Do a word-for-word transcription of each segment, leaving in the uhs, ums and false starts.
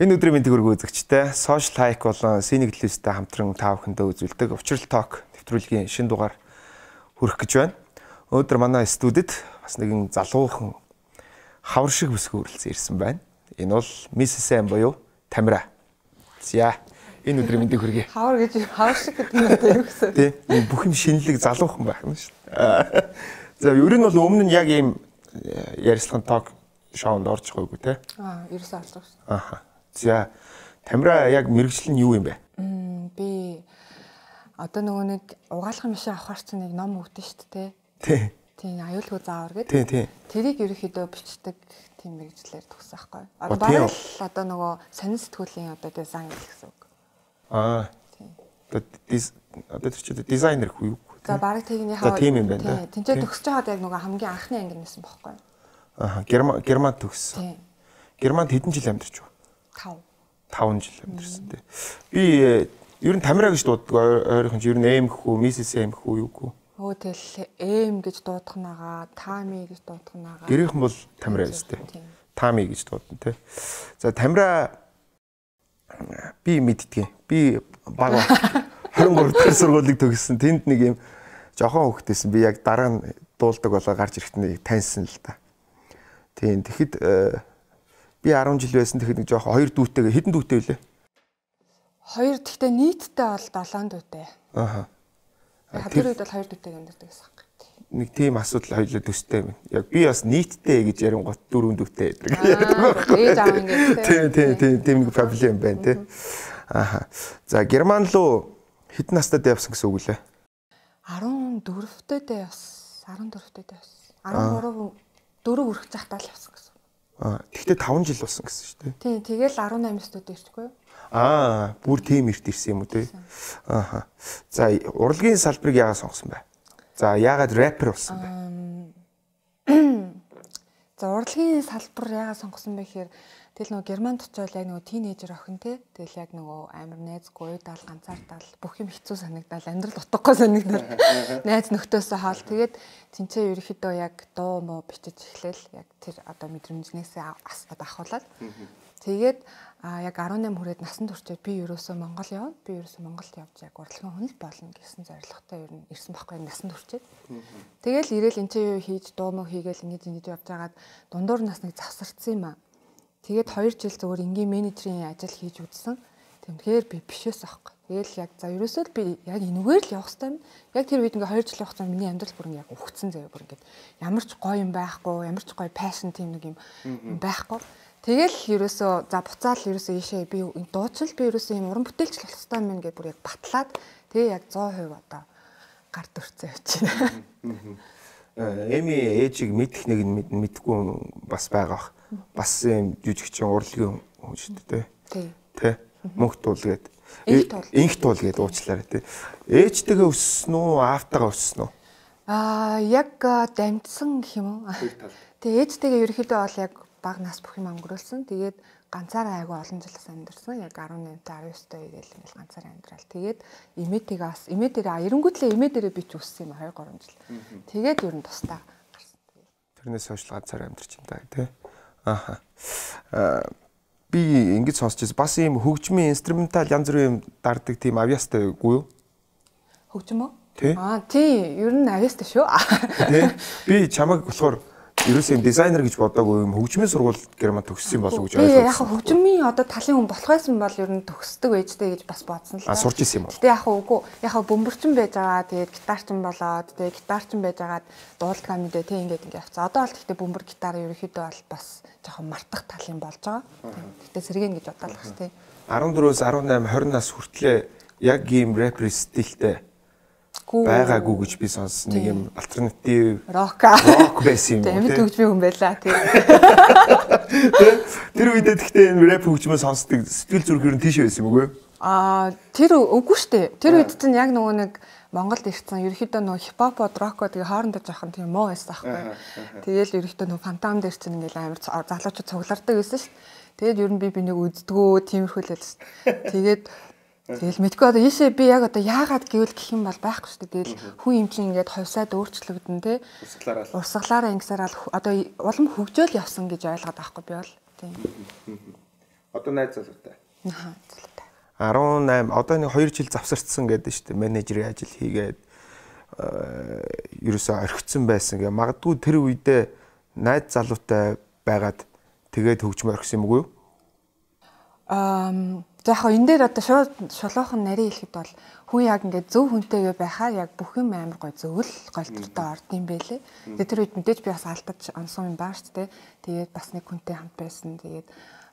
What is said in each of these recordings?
Энэ өдрийн мэндийг хүргэх үзэгчтэй Social Hike болон Scenic List-тэй хамтран та бүхэндээ үзүүлдэг Учрал Talk нэвтрүүлгийн шинэ дугаар хүрэх гэж байна. Өнөөдөр манай студид бас нэгэн залуухан хавар шиг бүсгүй хүрэлцэн ирсэн байна. Энэ бол Missus M буюу Тамира. За энэ өдрийн мэндийг хүргэе. Хавар гэж хавар шиг гэдэг нь юу гэсэн? Тийм бүх юм шинэлэг залуухан байх юм шүү дээ. За ер нь бол өмнө нь яг ийм ярилцлагын ток шоунд орж байгаагүй те. Аа, ерөөсөө олж байгаа шүү. Аха. За Тамира яг мэргэжил нь юу юм бэ? Мм би одоо нөгөө нэг угаалгын машин авахар чинь нэг ном өгдөн шүү дээ. Тий. Тийм аюулгүй заавар гэдэг. Тий, тий. Тэрийг ерөөхдөө бичдэг тийм мэргэжлэр төгсөн байхгүй. Одоо бараг л одоо нөгөө сонин сэтгүүлийн одоо дизайн гэсэн үг. Аа. Тийм. Одоо тэр чинь дизайнер хүү юу? За бараг тэгнийхээ тийм юм байна да. Тинчээ төгсөж байгаад яг нөгөө хамгийн анхны анги нэсэн байхгүй. Аа, Герман Герман төгссөн. Тийм. Германд хэдэн жил амьдарч байна? Тав. таван жил амьдарсан тий. Би ер нь Тамира гэж дууддаг ойрхон ер нь эм хүү, Missus M хүү юу гүү. Өө тэл эм гэж дуудах нагаа, Тами гэж дуудах нагаа. Гэрийнхэн бол Тамира гэжтэй. Тами гэж дуудана тий. За Тамира би мэддгийг. Би баг двадцать trois дахь сургуулийг төгссөн. Тэнд нэг юм жохон хөвгтэйсэн. Би яг дараа нь дуулдаг болоо гарч ирэхэд нэг таньсан л та. Тийм тэгэхэд би десять жил байсан тэгэхэд нэг жоохон хоёр дүүтэйгээ хэдэн дүүтэй вүлээ? Хоёр гэхдээ нийтдээ бол долоон дүүтэй. Ааха. Тэр үед бол хоёр дүүтэй амьдардаг гэсэн юм. Нэг тийм асуудал хоёулаа төстэй юм. Яг би бас нийтдээ гэж ярингот дөрөв дүүтэй байдаг. Ээж аав ингэ. Тийм тийм тийм тийм нэг проблем байна тий. Ааха. За Герман руу хэдэн настай явсан гэсэн үг лээ? десять дөрөвтэйдээ бас десять дөрөвтэйдээ бас десять три дөрөв хүрэх захтаа л явсан гэсэн. Аа, тэгтээ таван жил болсон гэсэн шүү дээ. Тийм, тэгэл десять студ ирчихгүй юу? Аа, бүр тийм эрт ирсэн юм уу те? Ааха. За, урлагийн салбарыг яагаад сонгосон бэ? За, яагаад рэпер болсон бэ? За, урлагийн салбар яагаад сонгосон бэ гэхээр тэгэл нөгөө Германд очивол яг нөгөө тийнейжер охин те. Тэгэл яг нөгөө амар найзгүй уйдаал ганцаардал бүх юм хэцүү санагдал амьдрал утгагүй санагдал. Найз нөхдөсөө хаал тэгээд тэнцээ ерөөхдөө яг дуу муу бичиж эхлээл яг тэр одоо мэдрэмжнээсээ одоо ахуулаад тэгээд яг десять восемь хүрээд насанд хүрчээд би ерөөсөө Монгол явна. Би ерөөсөө Монголд явж яг урлагийн хүн л болно гэсэн зорилготой ер нь ирсэн байхгүй насанд хүрчээд. Тэгэл ирээл энэ ч юу хийж дуу муу хийгээл ингэж ингэж явж байгаад дундуур нас нэг завсарцсан юм аа. Тэгээд хоёр жил зөвөр энгийн менежерийн ажил хийж үзсэн. Тэгмхээр би бишээс аахгүй. Тэгэл яг за ерөөсөө л би яг энэгээр л явах хэрэгтэй юм. Яг тэр үед ингээ хоёр жил явах чинь миний амьдрал бүр ингээ яг ухцсан заяа бүр ингээ ямар ч гоё юм байхгүй, ямар ч гоё пашн тийм нэг юм байхгүй. Тэгэл ерөөсөө за буцаал ерөөсөө ийшээ би дууцвал би ерөөсөө юм уран бүтээлч болох хэрэгтэй юм ингээ бүр яг батлаад тэгээ яг сто процент одоо гар дүрцээ явчихна. Эми ээжийг мэдэх нэг нь мэдхгүй бас байгаа. Бас юм жүжигчин урлагийн хүн шүү дээ тий. Тэ. Мөнх туул гээд инх туул гээд уучлаарай тий. Ээжтэйгээ өссөн үү, аавтайгаа өссөн үү? Аа яг дамжсан гэх юм уу? Тэгээ ээжтэйгээ ерөөхдөө бол яг бага нас бүх юм өнгөрүүлсэн. Тэгээд ганцаараа айгүй олон жил амьдэрсэн. Яг десять восемь десять девять гээл ингээл ганцаараа амьдрал. Тэгээд имээтэйгээ бас имээ дээрээ эренгүүтлээ имээ дээрээ би ч өссөн юм two three жил. Тэгээд ер нь тустаа гарсан. Тэрнээс хойш ганцаараа амьдарч юм даа тий. Аха. Аа би ингэж сонсч байсан. Бас ийм хөгжмийн инструментал янз бүрийн юм дарддаг тийм авьяастай үгүй юу? Хөгжим үү? Тий. Аа тий, ер нь авьяастай шүү. Тий. Би чамайг болохоор ерөөсөө дизайнер гэж бодоогүй юм хөгжмийн сургууль Германд төгссөн болов уу гэж ойлгосон. Яг хөгжмийн одоо талын хүн болох байсан бол ер нь төгсдөг байжтэй гэж бас бодсон л та. А сурч ирсэн юм уу? Гэтэ яг үгүй. Яг бөмбөрчин байж байгаа. Тэгээд гитарчин болоод тэгээд гитарчин байж байгаад дуулдгаа мэдээ тий ингээд ингээд явцсан. Одоо бол гэхдээ бөмбөр гитар ерөөхдөө бол бас жоохон мартах талын болж байгаа. Гэтэ сэргэн гэж бодлоо шүү тий. десять four десeight twenty нас хүртлээ яг ийм рэпер стилтэй байгаагүй гэж би сонссон. Нэг юм альтернатив рок рок байсан юм. Амьд хөгжмийн хүн байлаа тий. Тэр үедээ тэгтээ энэ рэп хөгжмөө сонсдог сэтгэл зүрх нь тийш байсан юм үгүй? Аа тэр үгүй штэ. Тэр үед чинь яг нөгөө нэг Монголд ирсэн ерөөхдөө нөгөө хипхопод рокоо тэгээ хоорондоо жоохон тийм муу байсан аахгүй. Тэгээл ерөөхдөө нөгөө фантом дээр чинь ингээл амар залуучууд цуглардаг байсан шүү. Тэгээд ер нь би бинийг үздэгөө тиймэрхүүлээд шүү. Тэгээд тэгэл мэдгүй одоо ийшээ би яг одоо яагаад гэвэл гэх юм бол байхгүй шүү. Тэгэл хүн юм чинь ингээд ховсаад өөрчлөгдөн те. Урсгалаараа ингэсээр одоо улам хөгжөөл явсан гэж ойлгоод байхгүй би бол. Тийм. Одоо найз залуутай. Аа залуутай. арван одоо нэг хоёр жил завсарцсан гэдэг шүү дээ. Менежерийн ажил хийгээд ерөөсөө орхицсан байсан гэ. Магадгүй тэр үедээ найз залуутай байгаад тэгээд хөгжмөр орхисон юм уу? Аа за яг энэ дээр одоо шууд шулуухан нарийн хэлэхэд бол хүн яг ингээд зөв хүнтэйгээ байхаар яг бүх юм амар гой зөвл голдортой орд юм байлээ. Тэгээд тэр үед мэдээж би бас алдаж онсон юм баа шүү дээ. Тэгээд бас нэг хүнтэй хамт байсан. Тэгээд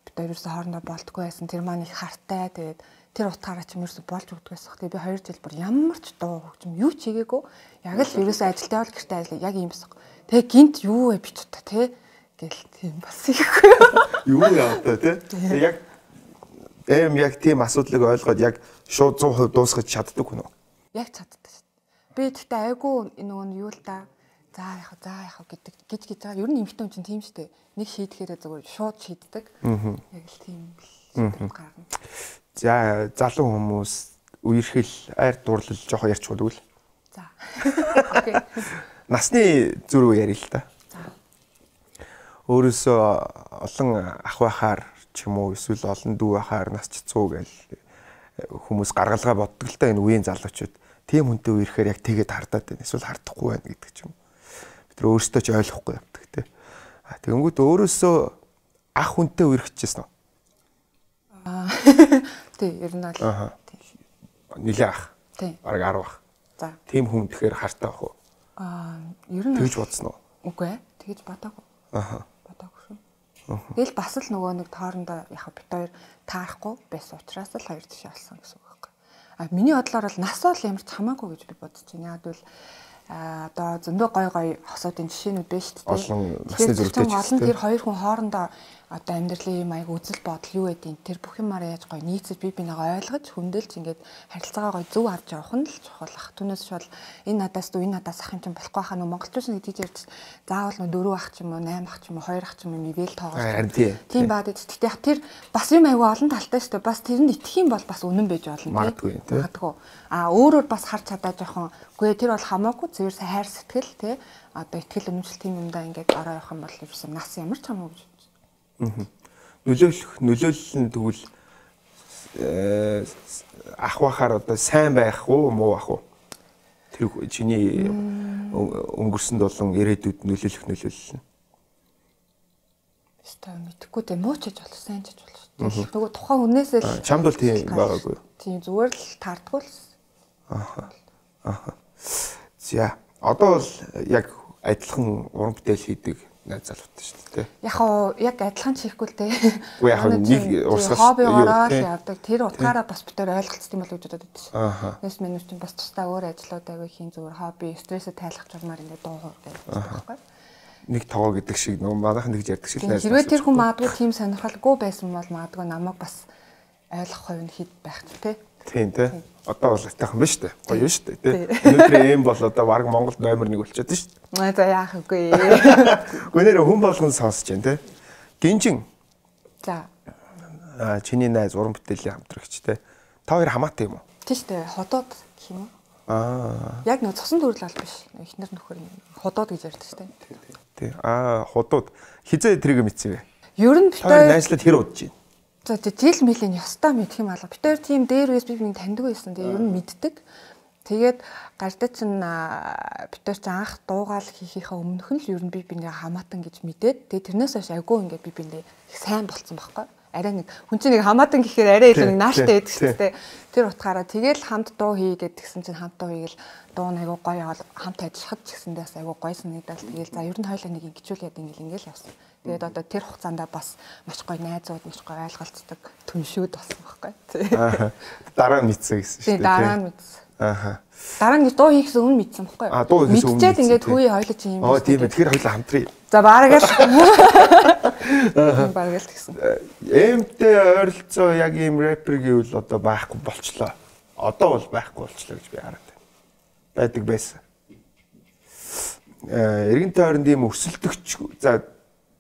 бид хоёр ерөөсө хоорондоо болтгүй байсан. Тэр маань их хартай. Тэгээд тэр утгаараа ч юм ерөөсө болж өгдөгээс баг. Тэгээд би хоёр жил бүр ямар ч дуу хөгжим юу ч хийгээгүй. Яг л ерөөсө ажилтаа бол гэртээ ажиллаа. Яг юм байна. Тэгээд гинт юу вэ би ч та тий гэл тийм бас ихгүй. Юу яа та тий. Яг эм яг тийм асуудлыг ойлгоод яг шууд сто процент дуусгаж чаддаг хүн үү? Яг чаддаг шүү дээ. Би тэгтээ айгүй нөгөө нь юу л да. За яах вэ? За яах вэ гэдэг гэж гэж байгаа. Ер нь эмэгтэй хүн чинь тийм шүү дээ. Нэг шийдэхээрээ зүгээр шууд шийддэг. Яг л тийм шийдвэр гаргана. За залуу хүмүүс үерхэл айр дурлал жоохон ярьж чадвал. За. Окей. Насны зүрх ярил л да. За. Өөрөөсөө олон ах байхаар ч юм уу эсвэл олон дүү байхаар нас цэцүү гэл хүмүүс гаргалгаа боддог л та энэ үеийн залуучууд. Тийм хүнтэй үерхээр яг тэгээд хардаад байна. Эсвэл хардахгүй байна гэдэг ч юм. Бид нар өөрсдөө ч ойлгохгүй явдаг те. А тэгэнгүүт өөрөөсөө ах хүнтэй үерхчихсэн үү? Аа. Тий, ер нь бол. Аа. Нилээ ах. Тий. Бараг арав ах. За. Тийм хүн тэгэхээр хартай ах уу? Аа, ер нь тэгж бодсон уу? Үгүй ээ. Тэгж бодоогүй. Аа. Бодоогүй шүү. Тэгэл бас л нөгөө нэг тоорондоо яг бит хоёр таарахгүй байсан учраас л хоёр тишээ алсан гэсэн үг байхгүй. А миний бодлоор бол нас бол ямар ч хамаагүй гэж би бодож байна. Яг л а одоо зөндөө гой гой хосуудын жишээнүүд байна шүү дээ. Олон насны зүрхтэй ч олон тэр хоёр хүн хоорондоо одоо амьдралын маяг үзэл бодол юу гэдэг нь тэр бүх юмараа яаж гой нийцэж бие бинийгаа ойлгож хөндөөлж ингээд харилцаагаа гой зөв авч явах нь л чухал ах. Түүнээс шууд энэ надаас дүү энэ надаас ах юм чинь болохгүй хаа нөө монголчууд нэг тийж ярьж заавал нөө дөрөв ах ч юм уу восемь ах ч юм уу хоёр ах ч юм уу мэвэл тоогоо. Тийм баад гэхдээ тэр бас юм аягүй олон талтай шүү дээ. Бас тэрэнд итгэх юм бол бас үнэн байж болно. Магадгүй тийм. Магадгүй. А өөрөөр бас харж чадаа жоохон үгүй тэр бол хамаагүй зөвөр хайр сэтгэл тий одоо итгэл үнэмшил тийм юмдаа ингээд ороо явах юм бол ерөөсөн нас ямар ч хамаагүй гэж. Нөлөөлөх нөлөөлөл нь тэгвэл ах байхаар одоо сайн байх уу муу байх уу? Тэр чиний өнгөрсөнд болон ирээдүйд нөлөөлөх нөлөөлөл нь. Эсвэл мэдхгүй дээ муу ч гэж болох сайн ч гэж болох шүү. Нөгөө тухайн хүнээсээ л чамд бол тийм байгаагүй. Тийм зүгээр л таардгүй л. Аа. Аа. За одоо бол яг адилхан уран бүтээл хийдэг найз залуутай шүү дээ. Яг оо яг адилхан чихгүй л дээ. Үгүй яг нэг урсгал хобби ороод явдаг. Тэр утгаараа бас битээр ойлголцсон юм болов гэж бодод байдаг шээ. Аа. Нэс менеж чинь бас тусдаа өөр ажлууд аягүй хийн зүгээр хобби, стрессээ тайлах журмаар ингээд дуугар гэдэг байхгүй. Нэг тогоо гэдэг шиг нөгөө манайхан тэгж ярьдаг шиг найз. Хэрвээ тэр хүн магадгүй тийм сонирхолгүй байсан бол магадгүй намайг бас ойлгох хувь нь хэд байх ч тий. Тийм тий. Одоо бол айтайхан байна шүү дээ. Гоё шүү дээ тий. Өнөөдөр ийм бол одоо баг Монголд номер нэг болчиход шүү дээ. Аа за яах вэ? Гүнээр хүн болгон сонсож байна тий. Гинжин. За. Аа чиний найз уран бүтээлийн хамтрагч тий. Та хоёр хамаатай юм уу? Тий шүү дээ. Ходоод гэх юм уу? Аа. Яг нэг цусан төрөл бол биш. Эхнэр нөхөр ходоод гэж ярьдаг шүү дээ. Тий. Аа худууд хизээ тэрийг мэдсэн бэ? Ер нь битээ найзлаад хэр удаж байна? За жил мөлийн ёстой мэдх юм алга. Битээр тийм дээр үес би бинийг таньдаг байсан. Тэгээ ер нь мэддэг. Тэгээд гардаа чин битээр чи анх дуугаал хийхийнхаа өмнөх нь л ер нь би бинийг хамаатан гэж мэдээд тэгээ тэрнээс хойш агуу ингээд би биндээ их сайн болцсон байхгүй. Арай нэг хүн чинь нэг хамаатан гэхээр арай илүү нэг нааштай байдаг шүү дээ. Тэр утгаараа тэгэл хамт дуу хийгээд тэгсэн чинь хамт дуу хийгээл дуу нэг агуу гоё хамт ажиллахад ч гэсэндээ бас агуу гоё санагдал. Тэгэл за ер нь хоёулаа нэг ингэчүүлээд ингээл ингээл явсан. Тэгээд одоо тэр хугацаанд бас маш гоё найзууд, маш гоё ойлголцдог түншүүд болсон байхгүй. Аа. Дараа нь мэдсэн гэсэн шүү дээ. Тийм дараа нь мэдсэн. Ааха. Дараа нь дуу хийхээс өмнө мэдсэн байхгүй. Аа дуу хийхээс өмнө. Мэдчихээд ингээд хөөе хоёулаа чи юм. Оо тийм ээ. Тэгэхээр хоёулаа хамтрая. За баараг л. Аа. Баараг л гэсэн. Эмтэй ойролцоо яг ийм рэпер гэвэл одоо байхгүй болчлоо. Одоо бол байхгүй болчлоо гэж би хараад байна. Байдаг байсан. Э эргэн тойронд ийм өрсөлдөгч за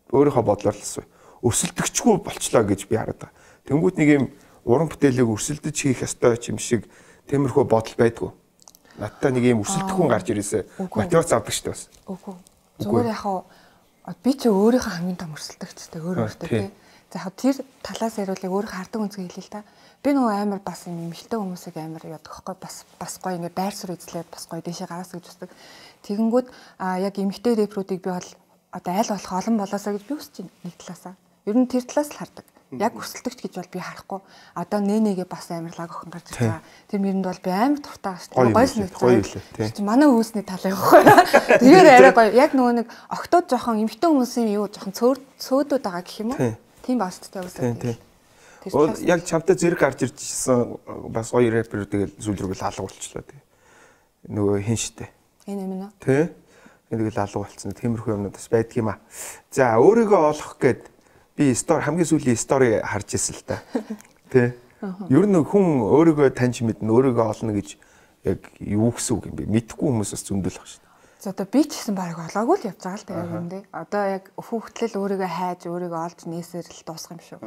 өөрийнхөө бодлоор л асуу. Өрсөлдөгчгүй болчлоо гэж би хараад байгаа. Тэнгүүт нэг юм уран бүтээлийг өрсөлдөж хийх ёстой ч юм шиг тиймэрхүү бодол байдгүй. Надтай нэг юм өрсөлдөх хүн гарч ирээсэ мотивац авдаг шүү дээ бас. Үгүй. Зүгээр яхаа би ч өөрийнхөө хамгийн том өрсөлдөгчтэй өөр өөртөө тий. За яг тэр талаас яриулыг өөрөө хардаг үнцгээ хэлээ л та. Би нөгөө амар бас юм эмхтэй хүмүүсийг амар яадаг хөхгүй бас бас гоё ингээ байр суурь эзлээд бас гоё дэшээ гараас гэж үздэг. Тэгэнгүүт а яг эмхтэй рэпрүүдийг би бол одоо аль болох олон болоосаа гэж би хүсэж байна нэг талаасаа. Ер нь тэр талаас л хардаг. Яг өрсөлдөгч гэж бол би харахгүй. Одоо нэнэгээ бас амар лаг охин гарч ирж байгаа. Тэр мэрэнд бол би амар дуртай шүү дээ. Гоё санагдсан. Чи манай үүсний тал явахгүй. Тэгэхээр арай гоё. Яг нөгөө нэг октод жоохон эмхтэй хүмүүсийн юу жоохон цөөдүүд байгаа гэх юм уу? Тийм бааш тээ үсээ. Ол яг чамтай зэрэг гарч ирчихсэн бас гоё рэпер тэгэл сүүл рүү алга болчихлоо тий. Нөгөө хин штэ. Энэ юм уу? Тий. Тэгэл алга болцсон. Тиймэрхүү юмнууд бас байдаг юм а. За өөрийгөө олох гээд би стори хамгийн сүүлийн стори харж ирсэн л та. Тий. Ер нь хүн өөрийгөө таньж мэднэ, өөрийгөө олно гэж яг юу гэсэн үг юм бэ? Мэдхгүй хүмүүс бас зөндөл баг шүү дээ. За одоо би ч гэсэн баг олоогүй л явж байгаа л тэгээ юм дээ. Одоо яг хүүхдлэл өөрийгөө хайж, өөрийгөө олж нээсээр л дуусах юм шүү.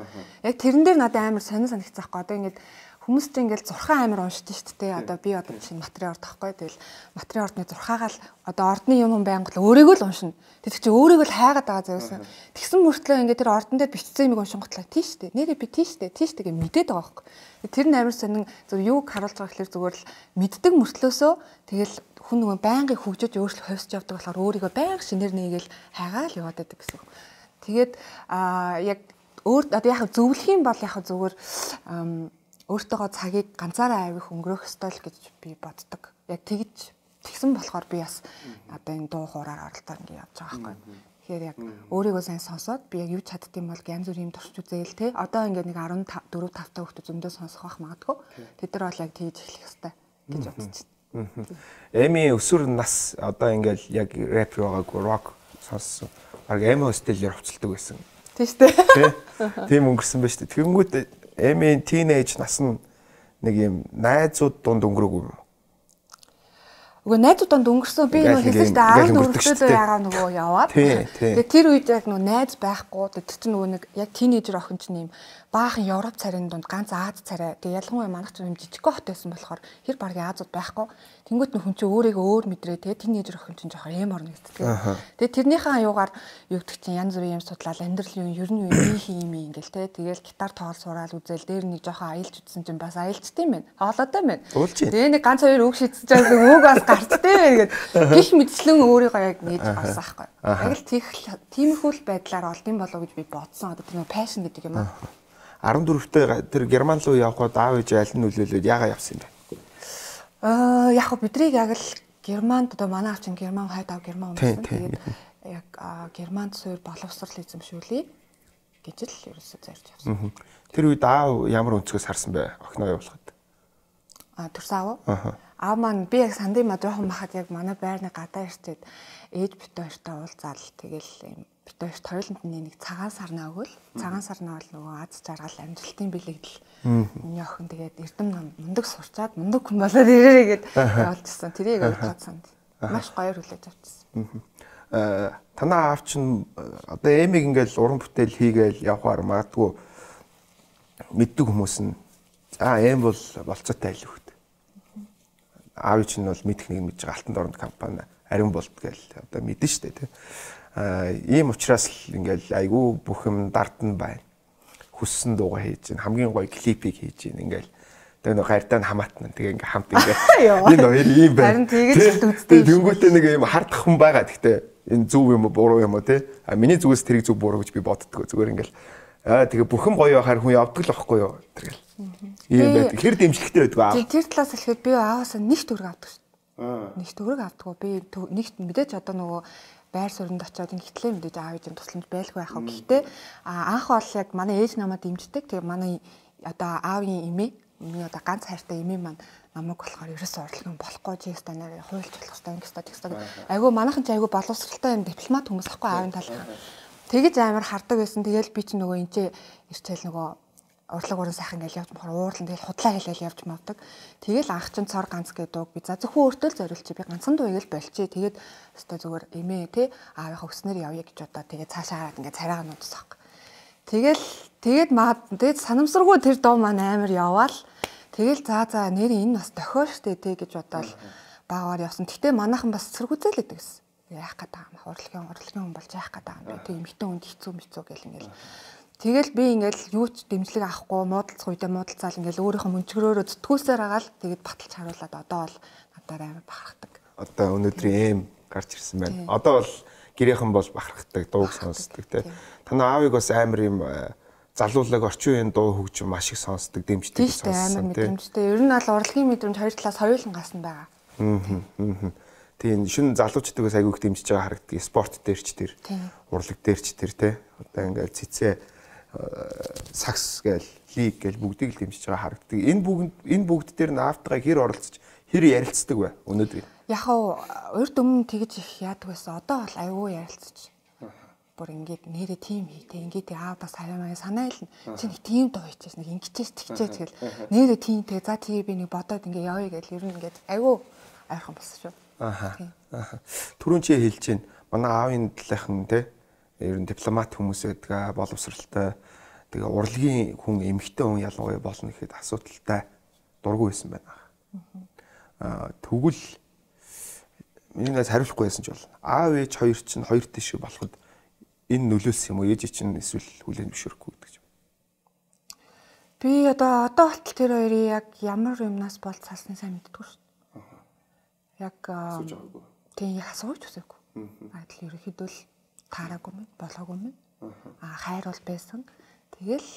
Яг тэрэн дээр надад амар сонир санагцсан байхгүй. Одоо ингээд хүмүүс чинь ингээд зурхаа амар уншдаг шүү дээ. Одоо би одоо чинь материал орд тахгүй. Тэгэл материал ордны зурхаагаа л одоо ордны юм байнга л өөрийгөө л уншина. Тэр чинь өөрийгөө л хайгаад байгаа зөөсөн. Тэгсэн мөртлөө ингээд тэр ордон дээр бичсэн юмыг уншинготлаа тийш дээ. Нэрээ би тийш дээ. Тийш дээ гэж мэдээд байгаа байхгүй. Тэр нь амар сонин зөв юуг харуулж байгаа гэхээр зүгээр л мэддэг мөртлөөсөө тэгэл хүн нөгөө байнгын хөгжиж өөрчлөлт хойсч явдаг болохоор өөрийгөө байнга шинээр нээгээл хайгаал яваад байдаг гэсэн. Тэгээд аа яг өөр одоо яг зөвлөх юм бол яг зүгээр өөртөөгөө цагийг ганцаараа авих өнгөрөх ёстой л гэж би боддог. Яг тэгж тэгсэн болохоор би бас одоо энэ дуу хуураар оролдоо ингэ явж байгаа байхгүй. Тэгэхээр яг өөрийгөө сайн сонсоод би яг юу чаддсан бол янз бүрийн турш үзээл те. Одоо ингэ нэг дөрөв тавтай хүүхдүүд зөндөө сонсох байх магадгүй. Тэд нар бол яг тэгж эхлэх ёстой гэж бодож байна. Эми өсвөр нас одоо ингээл яг рэп байгаагүй рок сонссон. Баг эми хостелээр хувцалдаг байсан. Тийм шүү дээ. Тийм өнгөрсөн ба шүү дээ. Тэгэнгүүт эми тинейж нас нь нэг юм найзууд дунд өнгөрөөгүй юм. Уг найзууданд өнгөрсөн би нөгөө хэлсэн шүү дээ арван дөрөвдөө ягаа нөгөө яваад. Тэгээ тэр үед яг нөгөө найз байхгүй. Тэр чинь нөгөө нэг яг тинейжер охин чинь юм баахан Европ царийн дунд ганц Аз царай. Тэгээ ялангуяа манайх ч юм жижигхэн хот байсан болохоор хэр баргийн Азууд байхгүй. Тэнгүүт нөх хүн чинь өөрийгөө өөр мэдрээ. Тэгээ тинейжер охин чинь жоохон эм орно гэдэг. Тэгээ тэрнийхээ аюугаар юу гэдэг чинь янз бүрийн юм судлаад амьдрал юу ер нь юу юм юм ингээл те. Тэгээл гитар тоол сураал үзэл дээр нэг жоохон аялж үзсэн чинь бас аялжтай юм байна. Хоолойтой байна. Тэгээ нэг ганц хоёр үг шийдсэж байгаа үг бас гарчтай байна гэдэг. Гих мэдслэн өөрийгөө яг нээж авсан байхгүй. Яг л тиймэрхүү л байдлаар олдсон болов уу гэж би бодсон. Одоо тэр пашн гэдэг юм аа. арван дөрөвтэй тэр Герман руу явхад аав ээж аль нь нөлөөлөөд яагаад явсан юм бэ? Аа яг хөө бидрийг яг л Германд одоо манай аав чинь Герман хайд аав Герман унсан. Тэгээд яг Германд суур боловсрал эзэмшүүлээ гэж л ерөөсөө зорж явсан. Тэр үед аав ямар өнцгөөс харсан бэ? Охиноо явуулахад. А төрс аав. Аав маань би яг сандын ма жоохон махад яг манай байрны гадаа ирчээд ээж бит хоёртой уулзаал тэгэл юм бит хоёрт хоёуланд нэг цагаан сарнаа өгөөл. Цагаан сарнаа бол нөгөө аз жаргал амжилтын бэлэгдэл. Миний охин тэгээд эрдэм нам мундаг сурчаад мундаг хүн болоод ирээрээ гэд явуулчихсан. Тэрийг ойлгоод санд. Маш гоёор хүлээж авчихсан. Э танаа аав чинь одоо эмиг ингээл уран бүтээл хийгээл явхаар магадгүй мэддэг хүмүүс нь за эм бол болцоотой айл хөхт. Аав чинь бол мэдэх нэг мэдж байгаа алтан дорнд компани ариун болт гээл одоо мэдэн штэ тий. А ийм учраас л ингээл айгүй бүх юм дардсан байна. Хүссэн дуугаа хийж гин хамгийн гоё клипийг хийж гин ингээл тэгээ нэг гардаа хамаатна тэгээ ингээл хамт ингээл энэ хоёр ийм байна. Харин тэгэж үздэг. Тэнгүүтээ нэг юм хардах хүн байгаа гэхдээ энэ зөв юм уу буруу юм уу тий. А миний зүгээс тэрийг зөв буруу гэж би боддгоо зүгээр ингээл аа тэгээ бүхэн гоё байхаар хүн явдаг л байхгүй юу тэргээл. Ийм байт. Хэр дэмжлэгтэй байдгаа аа. Тэр талаас хэлэхэд би ааваас нэг төгрөг авдаг шүү. Нэг төгрөг авдаггүй би нэг мэдээж одоо нөгөө байр суурьнд очиод ингэтлээ мэдээж аав ээжийн тусламж байлгүй яхаа. Гэхдээ анх бол яг манай ээж намайг дэмждэг. Тэгээ манай одоо аавын эмээ миний одоо ганц хайртай эмээ маань намайг болохоор ерөөсөө орлого болохгүй чи станаар хуульч болох хэрэгтэй ингэстэ тэгстэ. Айгу манайхан ч айгу боловсралтай юм дипломат хүмүүс ахгүй аавын талхан. Тэгэж амар хардаг байсан. Тэгээл би чи нөгөө энэ ч ирчээл нөгөө урлаг уран сайхан гэж явж мохор уурлан тэгэл худлаа хэлэл явж мавдаг. Тэгэл анх чин цор ганц гэдэг би за зөвхөн өөртөө л зориулчих би ганцхан дуу игээл болчих. Тэгээд өстой зүгээр эмээ те аавынхаа өснөр явъя гэж удаа тэгээд цаашаа хараад ингээ царайгаа нуудсах. Тэгэл тэгээд маа тэгээд санамсаргүй тэр дуу маань амар яваал. Тэгэл за за нэр энэ бас дохио штэ те гэж бодоол баагаар явсан. Гэтэ манайхан бас цэргүүзэл гэдэг гэсэн. Яах гээд байгаа юм. Урлагийн урлагийн хүн болж яах гээд байгаа юм бэ? Тэг эмхтэн хүнд хэцүү мэцүү гэл ингээл Тэгэл би ингээл юу ч дэмжлэг авахгүй муудалцах үедээ муудалцаал ингээл өөрийнхөө мөнчгөрөөрөө зүтгүүлсээр агаал тэгээд баталж харуулад одоо бол надаар амар бахархдаг. Одоо өнөөдрийн эм гарч ирсэн байна. Одоо бол гэрийнхэн бол бахархдаг, дууг сонсдог тий. Танаа аавыг бас амар юм залуулаг орчин үеийн дуу хөгжим маш их сонсдог, дэмждэг сонссон тий. Дэмждэг. Ер нь бол урлагийн мэдрэмж хоёр талаас хоёулан гасан байгаа. Аа. Тийм шинэ залуучдагаас айгүйх дэмжиж байгаа харагддаг. Спорт дээр ч тэр, урлаг дээр ч тэр тий. Одоо ингээл цэцээ сакс гээл лиг гээл бүгдийг л дэмжиж байгаа харагддаг. Энэ бүгд энэ бүгд дээр наавтгаа хэр оролцож хэр ярилцдаг вэ өнөөдөр? Яг уу урд өмнө тэгж их яадаг байсан. Одоо бол аюу ярилцаж. Бүр ингээд нэрээ тим хийтэй ингээд аа бас хаваа санаа илна. Чи нэг тим доо хийчихээс нэг ингэчээс тэгчээ тэгэл нэрээ тимтэй за тий би нэг бодоод ингээд явъя гэл ер нь ингээд аюу айрхан болсон шүү. Аха. Аха. Түрүүн чи хэлж чинь манай аавын талынхан те ер нь дипломат хүмүүс байдаг, боловсралтай. Тэгээ урлагийн хүн эмэгтэй хүн ялангуяа болно гэхэд асуудалтай дургүй байсан байна. Аа тэгвэл минийгээс хариулахгүй байсан ч болно. Аав ээж хоёр чинь хоёр тийш болоход энэ нөлөөс юм уу ээж чинь эсвэл хүлээн зөвшөөрөхгүй гэдэг юм. Би одоо одоо болтол тэр хоёрыг яг ямар юмнаас бол цаасны сайн мэддэггүй шүү дээ. Яг тийм яг асууж үзээгүй. Аа тэгэл ерөөхдөө л таараагүй юм, болоогүй юм. Аа хайр бол байсан. Тэгэл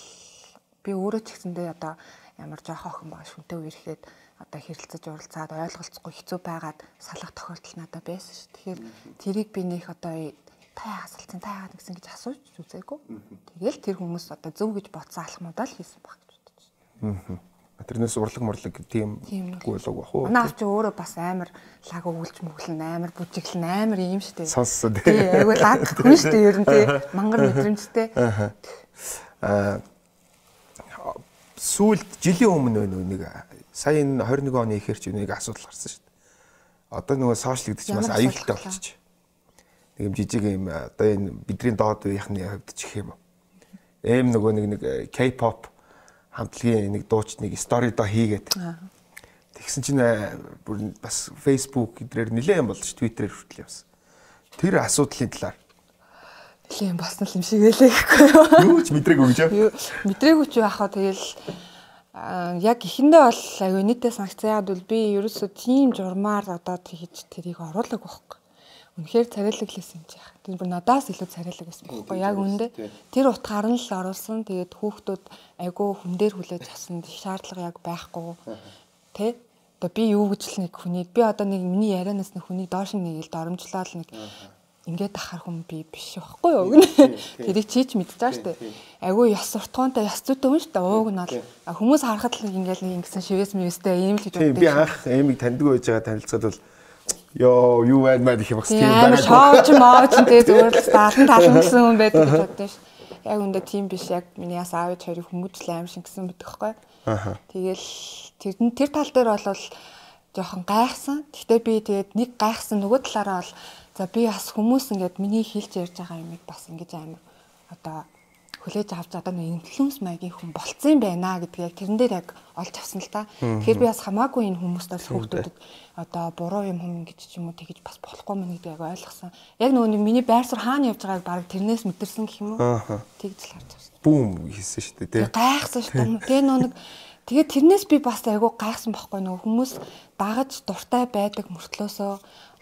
би өөрөө ч гэсэндээ одоо ямар жоох охин байгаа шүнтэй үерхэд одоо хэрэлцэж уралцаад ойлголцохгүй хэцүү байгаад салах тохиолдол надад байсан ш. Тэгэхээр тэрийг би нөх одоо та яагаас алцсан та яагаад гэсэн гэж асууж үзээгүй. Тэгэл тэр хүмүүс одоо зөв гэж бодсон алхмуудаа л хийсэн баг гэж бодож байна. Аа. Тэрнээс урлаг морлог тийм гүйлэг бах уу? Манай авч өөрөө бас амар лаг өгүүлж мөглөн амар бүжиглэн амар юм штэ. Сонссон тий. Айгуу лаг хүн штэ ер нь тий. Мангар мэдрэмжтэй. Аа. Сүүлд жилийн өмнө нэг сая энэ двадцать один оны ихэр ч нэг асуудал гарсан шүү дээ. Одоо нөгөө сошиалдч бас аюултай болчих. Нэг юм жижиг юм одоо энэ бидний доод үеийнхний хувьд ч гэх юм уу. Эм нөгөө нэг нэг K-pop хамтлагийн нэг дууч нэг стори доо хийгээд. Тэгсэн чинь бүр бас Facebook эдрээр нэлээд юм болж Twitter-ээр хүртэл явсан. Тэр асуудлын талаар нэлээд юм болсон юм шиг байлээ гэхгүй юу. Юу ч мэдрээгүй гэж юу? Мэдрээгүй ч яхаа тэгэл яг ихэндээ бол аюу нийтээ санкцаа яад бол би ерөөсөө тийм журмаар одоо хийж тэрийг оруулаг байхгүй. Үнэхээр царайлаг л байсан юм чи яах. Тэр бүр надаас илүү царайлаг байсан байхгүй яг үндэ. Тэр утгаар нь л оруулсан. Тэгээд хүүхдүүд айгүй хүн дээр хүлээж авсан шаардлага яг байхгүй. Тэ? Одоо би юу гэж л нэг хүнийг би одоо нэг миний ярианаас нэг хүнийг доош нь нэг л доромжлоод нэг ингээд ахаар хүн би биш байхгүй юу. Тэрийг чийч мэдчихэж байгаа шүү дээ. Айгүй ёс суртахуунтай ёс зүйтэй хүн шүү дээ. Ууг нь бол хүмүүс харахад л ингээл нэг ингэсэн шивээс мэвэстэй ийм л гэж боддог. Би анх эмиг таньдгүй байж байгаа танилцаад бол ёо юу байна маа гэх юм бас тийм байна. Шоуч мооч тэгээ зүгээр л таалан таалан гэсэн хүн байдаг гэж боддоо ш. Яг үндэ тийм биш яг миний яс аав ээж хоёрыг хүмүүжл аим шиг гэсэн байдаг байхгүй. Аа. Тэгэл тэр тэр тал дээр бол жоохон гайхсан. Гэхдээ би тэгээд нэг гайхсан нөгөө талаараа бол за би бас хүмүүс ингээд миний хэлж ярьж байгаа юмыг бас ингэж амар одоо хүлээж авч одоо нэг инфлюенс маягийн хүн болцсон юм байна гэдгийг яг тэрэн дээр яг олж авсан л та. Тэгэхээр би бас хамаагүй энэ хүмүүст бас хүүхдүүдэд одоо буруу юм хүм гэж ч юм уу тэгэж бас болохгүй мэн гэдгийг ойлгосон. Яг нөгөө миний байр суурь хаана явж байгааг баг тэрнээс мэдэрсэн гэх юм уу. Тэгж л харж авсан. Бүүм хийсэн шүү дээ тий. Гайхсан шүү дээ. Тэгээ нөгөө нэг тэгээд тэрнээс би бас айгүй гайхсан байхгүй нөгөө хүмүүс дагаж дуртай байдаг мөртлөөсөө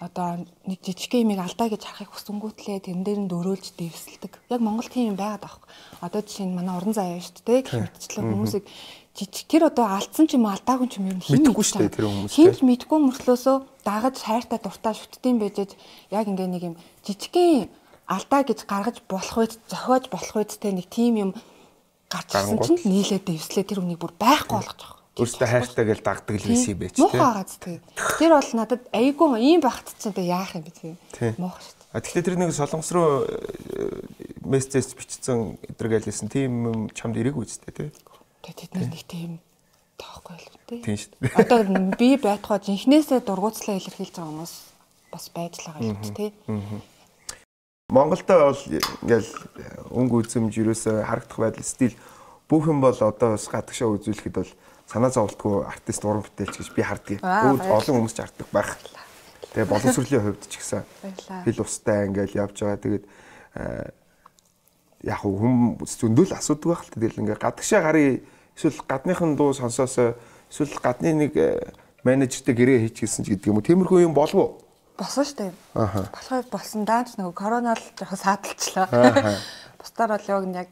одоо нэг жижиг юмыг алдаа гэж харахыг хүсэнгүүтлээ тэрэн дээр нь дөрөөлж дэвсэлдэг. Яг Монгол тийм юм байгаад байгаа. Одоо жишээ нь манай уран заяа шүү дээ. Гэх мэтчлэн хүмүүсийг жижиг тэр одоо алдсан ч юм алдаагүй ч юм ер нь мэдгүй шүү дээ тэр хүмүүс. Хинч мэдгүй мөртлөөсөө дагаж хайртай дуртай шүтдэм байжээж яг ингээ нэг юм жижигхэн алдаа гэж гаргаж болох үед зохиож болох үед те нэг тийм юм гарч ирсэн чинь нийлээд дэвслээ тэр үнийг бүр байхгүй болгож байгаа. Өөртөө хайртай гэж дагдаг л байсан юм байж тээ. Муухай гац тээ. Тэр бол надад айгүй ийм багт ч одоо яах юм бэ тээ. Муухай шүү дээ. А тэгэхээр тэр нэг солонгос руу мессеж бичсэн эдэргэлсэн тийм юм чамд ирээгүй ч тээ. Тэгээ тэд нар нэг тийм таахгүй л үү тээ. Тийм шүү дээ. Одоо би байтугай жинхнээсээ дургуутслаа илэрхийлж байгаа хүмүүс бас байж л байгаа юм тээ. Монголда бол ингээл өнгө үзэмж юусоо харагдах байдал стил бүх юм бол одоо бас гадагшаа үзүүлэхэд бол санаа зовлтгүй артист уран бүтээлч гэж би харддаг. Өөр олон хүмүүс ч харддаг байх. Тэгээ боловсролын хувьд ч гэсэн хэл устай ингээл явж байгаа. Тэгээд яг хүмүүс зөндөл асуудаг байх л тэгэл ингээ гадагшаа гарыг эсвэл гадныхын дуу сонсоосоо эсвэл гадны нэг менежертэй гэрээ хийчихсэн ч гэдэг юм уу. Тиймэрхүү юм болов уу? Болсон шүү дээ. Аа. Болохоор болсон даанч нөгөө корона л жоохон сааталчлаа. Бусдаар бол яг яг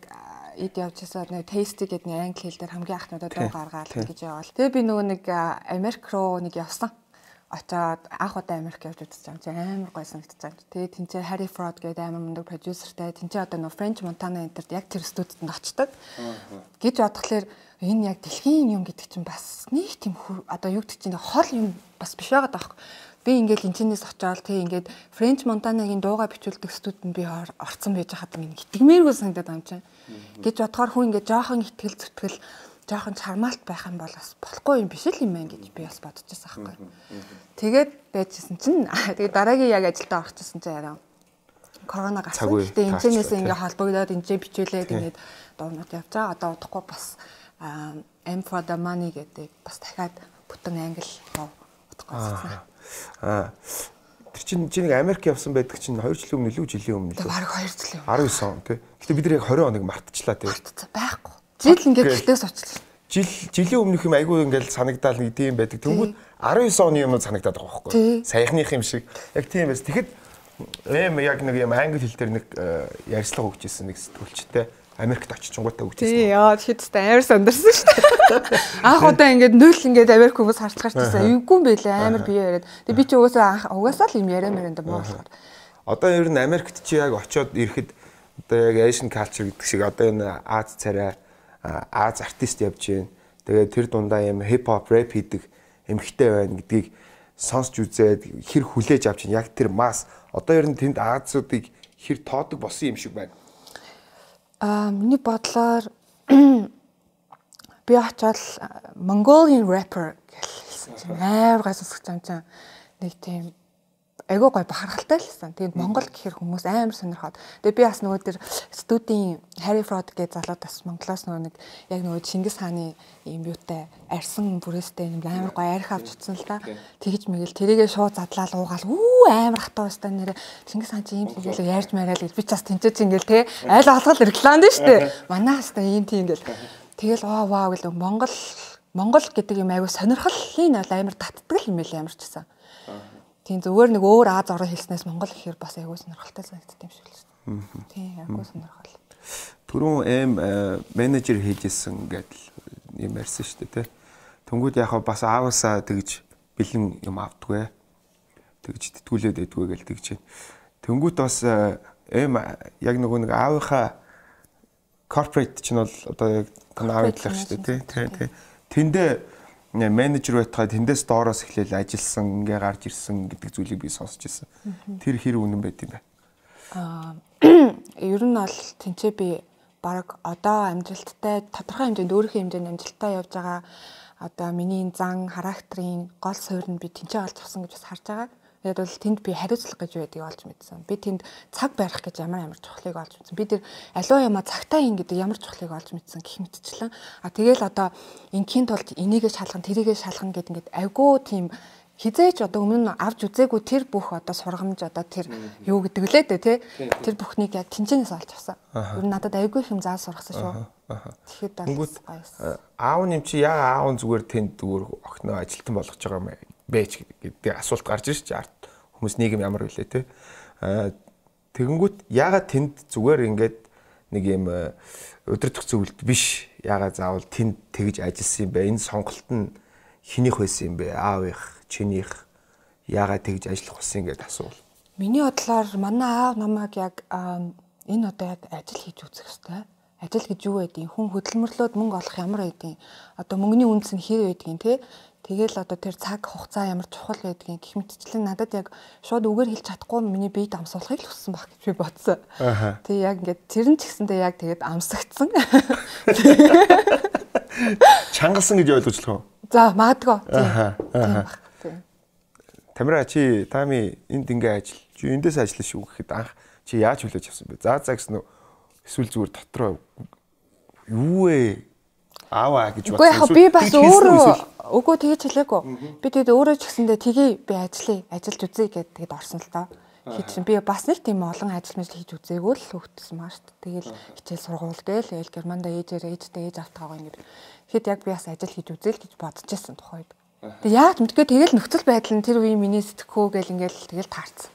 ид явж байсан нэг тейсти гэдэг нэг англи хэл дээр хамгийн анхнуудаа дуу гаргаад гэж яваал. Тэгээ би нөгөө нэг Америк руу нэг явсан. Очоод анх удаа Америк явж үзсэн чинь амар гоё санагдчихсан. Тэгээ тэнцээ Harry Fraud гэдэг амар мундаг продюсертэй тэнцээ одоо нөгөө French Montana энтерд яг тэр студид очдог. Гэж бодглохлоор энэ яг дэлхийн юм гэдэг чинь бас нэг тийм одоо юу гэдэг чинь хол юм бас биш байгаад байгаа. Би ингээд энэчнээс очоод тэг ингээд French Montana-гийн дуугаа бичүүлдэг студид би орцсон байж хаад минь итгэмээргүй санагдаад байгаа юм чинь. Гэж бодохоор хүн ингээд жоохон итгэл зүтгэл жоохон чармаалт байх юм бол бас болохгүй юм биш л юм байна гэж би бас бодож байсан байхгүй. Тэгээд байжсэн чинь тэгээд дараагийн яг ажилдаа орчихсон чинь яраа корона гарсан. Гэтэ энэчнээс ингээд холбогдоод энэчээ бичүүлээд ингээд дуунууд явж байгаа. Одоо удахгүй бас M for the money гэдэг бас дахиад бүтэн англи руу удахгүй болсон. Аа. Тэр чинь чи нэг Америк явсан байдаг чинь хоёр жилийн өмнө илүү жилийн өмнө л. Бараг хоёр жилийн өмнө. арван девять он тий. Гэтэ бид нар яг двадцать оныг мартчихлаа тий. Байхгүй. Жил ингээд гэртээс очлаа. Жил жилийн өмнөх юм айгүй ингээд санагдаал нэг тийм байдаг. Тэнгүүд арван девять оны юм санагдаад байгаа байхгүй. Саяхных юм шиг. Яг тийм байс. Тэгэхэд эм яг нэг юм англи хэл дээр нэг ярьцлага өгчээсэн нэг сэтгүүлчтэй Америкт очичингуудаа өгчээсэн. Тий, яа тэгэхэд амар сандарсан шүү дээ. Анх удаа ингээд нөл ингээд Америк хүмүүс харж гарчсан. Эвгүй юм байлаа амар бие яриад. Тэгээ би чи угаасаа угаасаа л юм яриамаар энэ муу болохоор. Одоо ер нь Америкт чи яг очиод ирэхэд одоо яг Asian culture гэдэг шиг одоо энэ Аз царай Аз артист явж байна. Тэгээд тэр дундаа юм хип хоп рэп хийдэг эмхтэй байна гэдгийг сонсч үзээд хэр хүлээж авч байна. Яг тэр масс одоо ер нь тэнд Азуудыг хэр тоодог болсон юм шиг байна. Аа миний бодлоор би очоод Mongolian rapper гэсэн чинь амар гай сонсож байгаа юм чинь нэг тийм айгуу гой бахархалтай л байсан. Тэгээд Монгол гэхэр хүмүүс амар сонирхоод. Тэгээд би бас нөгөө тэр студийн Harry Fraud гэж залууд бас Монголоос нөгөө нэг яг нөгөө Чингис хааны юм юутай арьсан бүрээстэй юм амар гой арх авч утсан л да. Тэгэж мэгэл тэрийгээ шууд задлаад уугаал үү амар хатуу байсан нэрэ Чингис хаан чи юм тэгэл ярьж мараал гэж би ч бас тэнцэж ингээл те айл олгол рекламд нь штэ. Манаас та ийм тийм ингээл тэгэл оо вау гэл Монгол Монгол гэдэг юм айгуу сонирхолын бол амар татдаг юм байл ямар ч гэсэн. Тийм зүгээр нэг өөр Аз орон хэлснээс Монгол гэхээр бас айгүй сонирхолтой санагддаг юм шиг л шүү дээ. Тийм айгүй сонирхол. Түрүүн эм менежер хийжсэн гэдэл юм ярьсан шүү дээ тий. Тэнгүүд яг бас ааваасаа тэгж бэлэн юм авдгүй. Тэгж тэтгүүлээд байдгүй гэл тэгж. Тэнгүүд бас эм яг нөгөө нэг аавынхаа корпорейт ч нь бол одоо яг аавдлах шүү дээ тий. Тий. Тэндээ менежер байтгаа тэндээс доороос эхлээл ажилласан, ингээ гарч ирсэн гэдэг зүйлийг би сонсч ирсэн. Тэр хэр үнэн байд юм бэ? Аа, ер нь бол тэнцээ би баг одоо амжилттай тодорхой хэмжээнд өөрийнхөө хэмжээнд амжилттай явж байгаа одоо миний зан характерын гол суурь нь би тэнцээ олж авсан гэж бас харж байгаа. Тэгээд бол тэнд би хариуцлага гэж байдгийг олж мэдсэн. Би тэнд цаг барих гэж ямар ямар чухлыг олж мэдсэн. Би тэр аливаа юмаа цагтаа ин гэдэг ямар чухлыг олж мэдсэн гэх мэтчлэн. А тэгэл одоо ингийн тулд энийгээ шалгана, тэрийгээ шалгана гэдэг ингээд айгүй тийм хизээч одоо өмнө нь авч үзээгүй тэр бүх одоо сургамж одоо тэр юу гэдэг лээ дээ тий. Тэр бүхнийг яг тэнцэнээс олж авсан. Ер нь надад айгүй их юм заал сургасан шүү. Тэгэхэд бол аав нэм чи яа аав зүгээр тэнд зүгээр охиноо ажилтан болгож байгаа юм бэж гэдэг асуулт гарч ирж арт хүмүүс нийгэм ямар вүлээ те тэгэнгүүт яагаад тэнд зүгээр ингээд нэг юм өдөртөх зөвлөлт биш яагаад заавал тэнд тэгж ажилласан юм бэ энэ сонголт нь хинийх байсан юм бэ аавынх чинийх яагаад тэгж ажиллах болсон гэдээ асуувал миний бодлоор манай аав намайг яг энэ одоо яг ажил хийж үзэх хэрэгтэй ажил гэж юу байдгийг хүн хөдөлмөрлөөд мөнгө олох ямар байдгийг одоо мөнгөний үндэс нь хэр байдгийг те тэгэл одоо тэр цаг хугацаа ямар чухал байдгийг гэх мэтчлэн надад яг шууд үгээр хэлж чадахгүй миний биед амсуулахыг л хүссэн баг гэж би бодсон. Тэг яг ингээд тэр нь ч гэсэндээ яг тэгээд амсагдсан. Чангалсан гэж ойлгож болох уу? За магадгүй. Тийм баг. Тамира чи тами энд ингээ ажил. Чи эндээс ажиллаж шүү гэхэд анх чи яаж хүлээж авсан бэ? За за гэсэн үү? Эсвэл зүгээр дотроо юу вэ? Аваа гэж бодсон. Үгүй яг би бас өөрөө үгүй тэгэж хэлээгүй. Би тэгээд өөрөө ч гэсэндээ тгий би ажиллая, ажиллаж үзье гэд тэгэд орсон л доо. Хийчихсэн. Би бас нэг тийм олон ажил мэл хийж үзээгүй л хөвгтсөн маа шүү дээ. Тэгэл хичээл сургууль гээл ял Германда ээжээр ээжтэй ээж автаагаа ингэ. Тэгэхэд яг би бас ажил хийж үзээл гэж бодож байсан тухайд. Тэг яг мэдгүй тэгэл нөхцөл байдал нь тэр үеийн миний сэтгэхүү гээл ингээл тэгэл таарсан.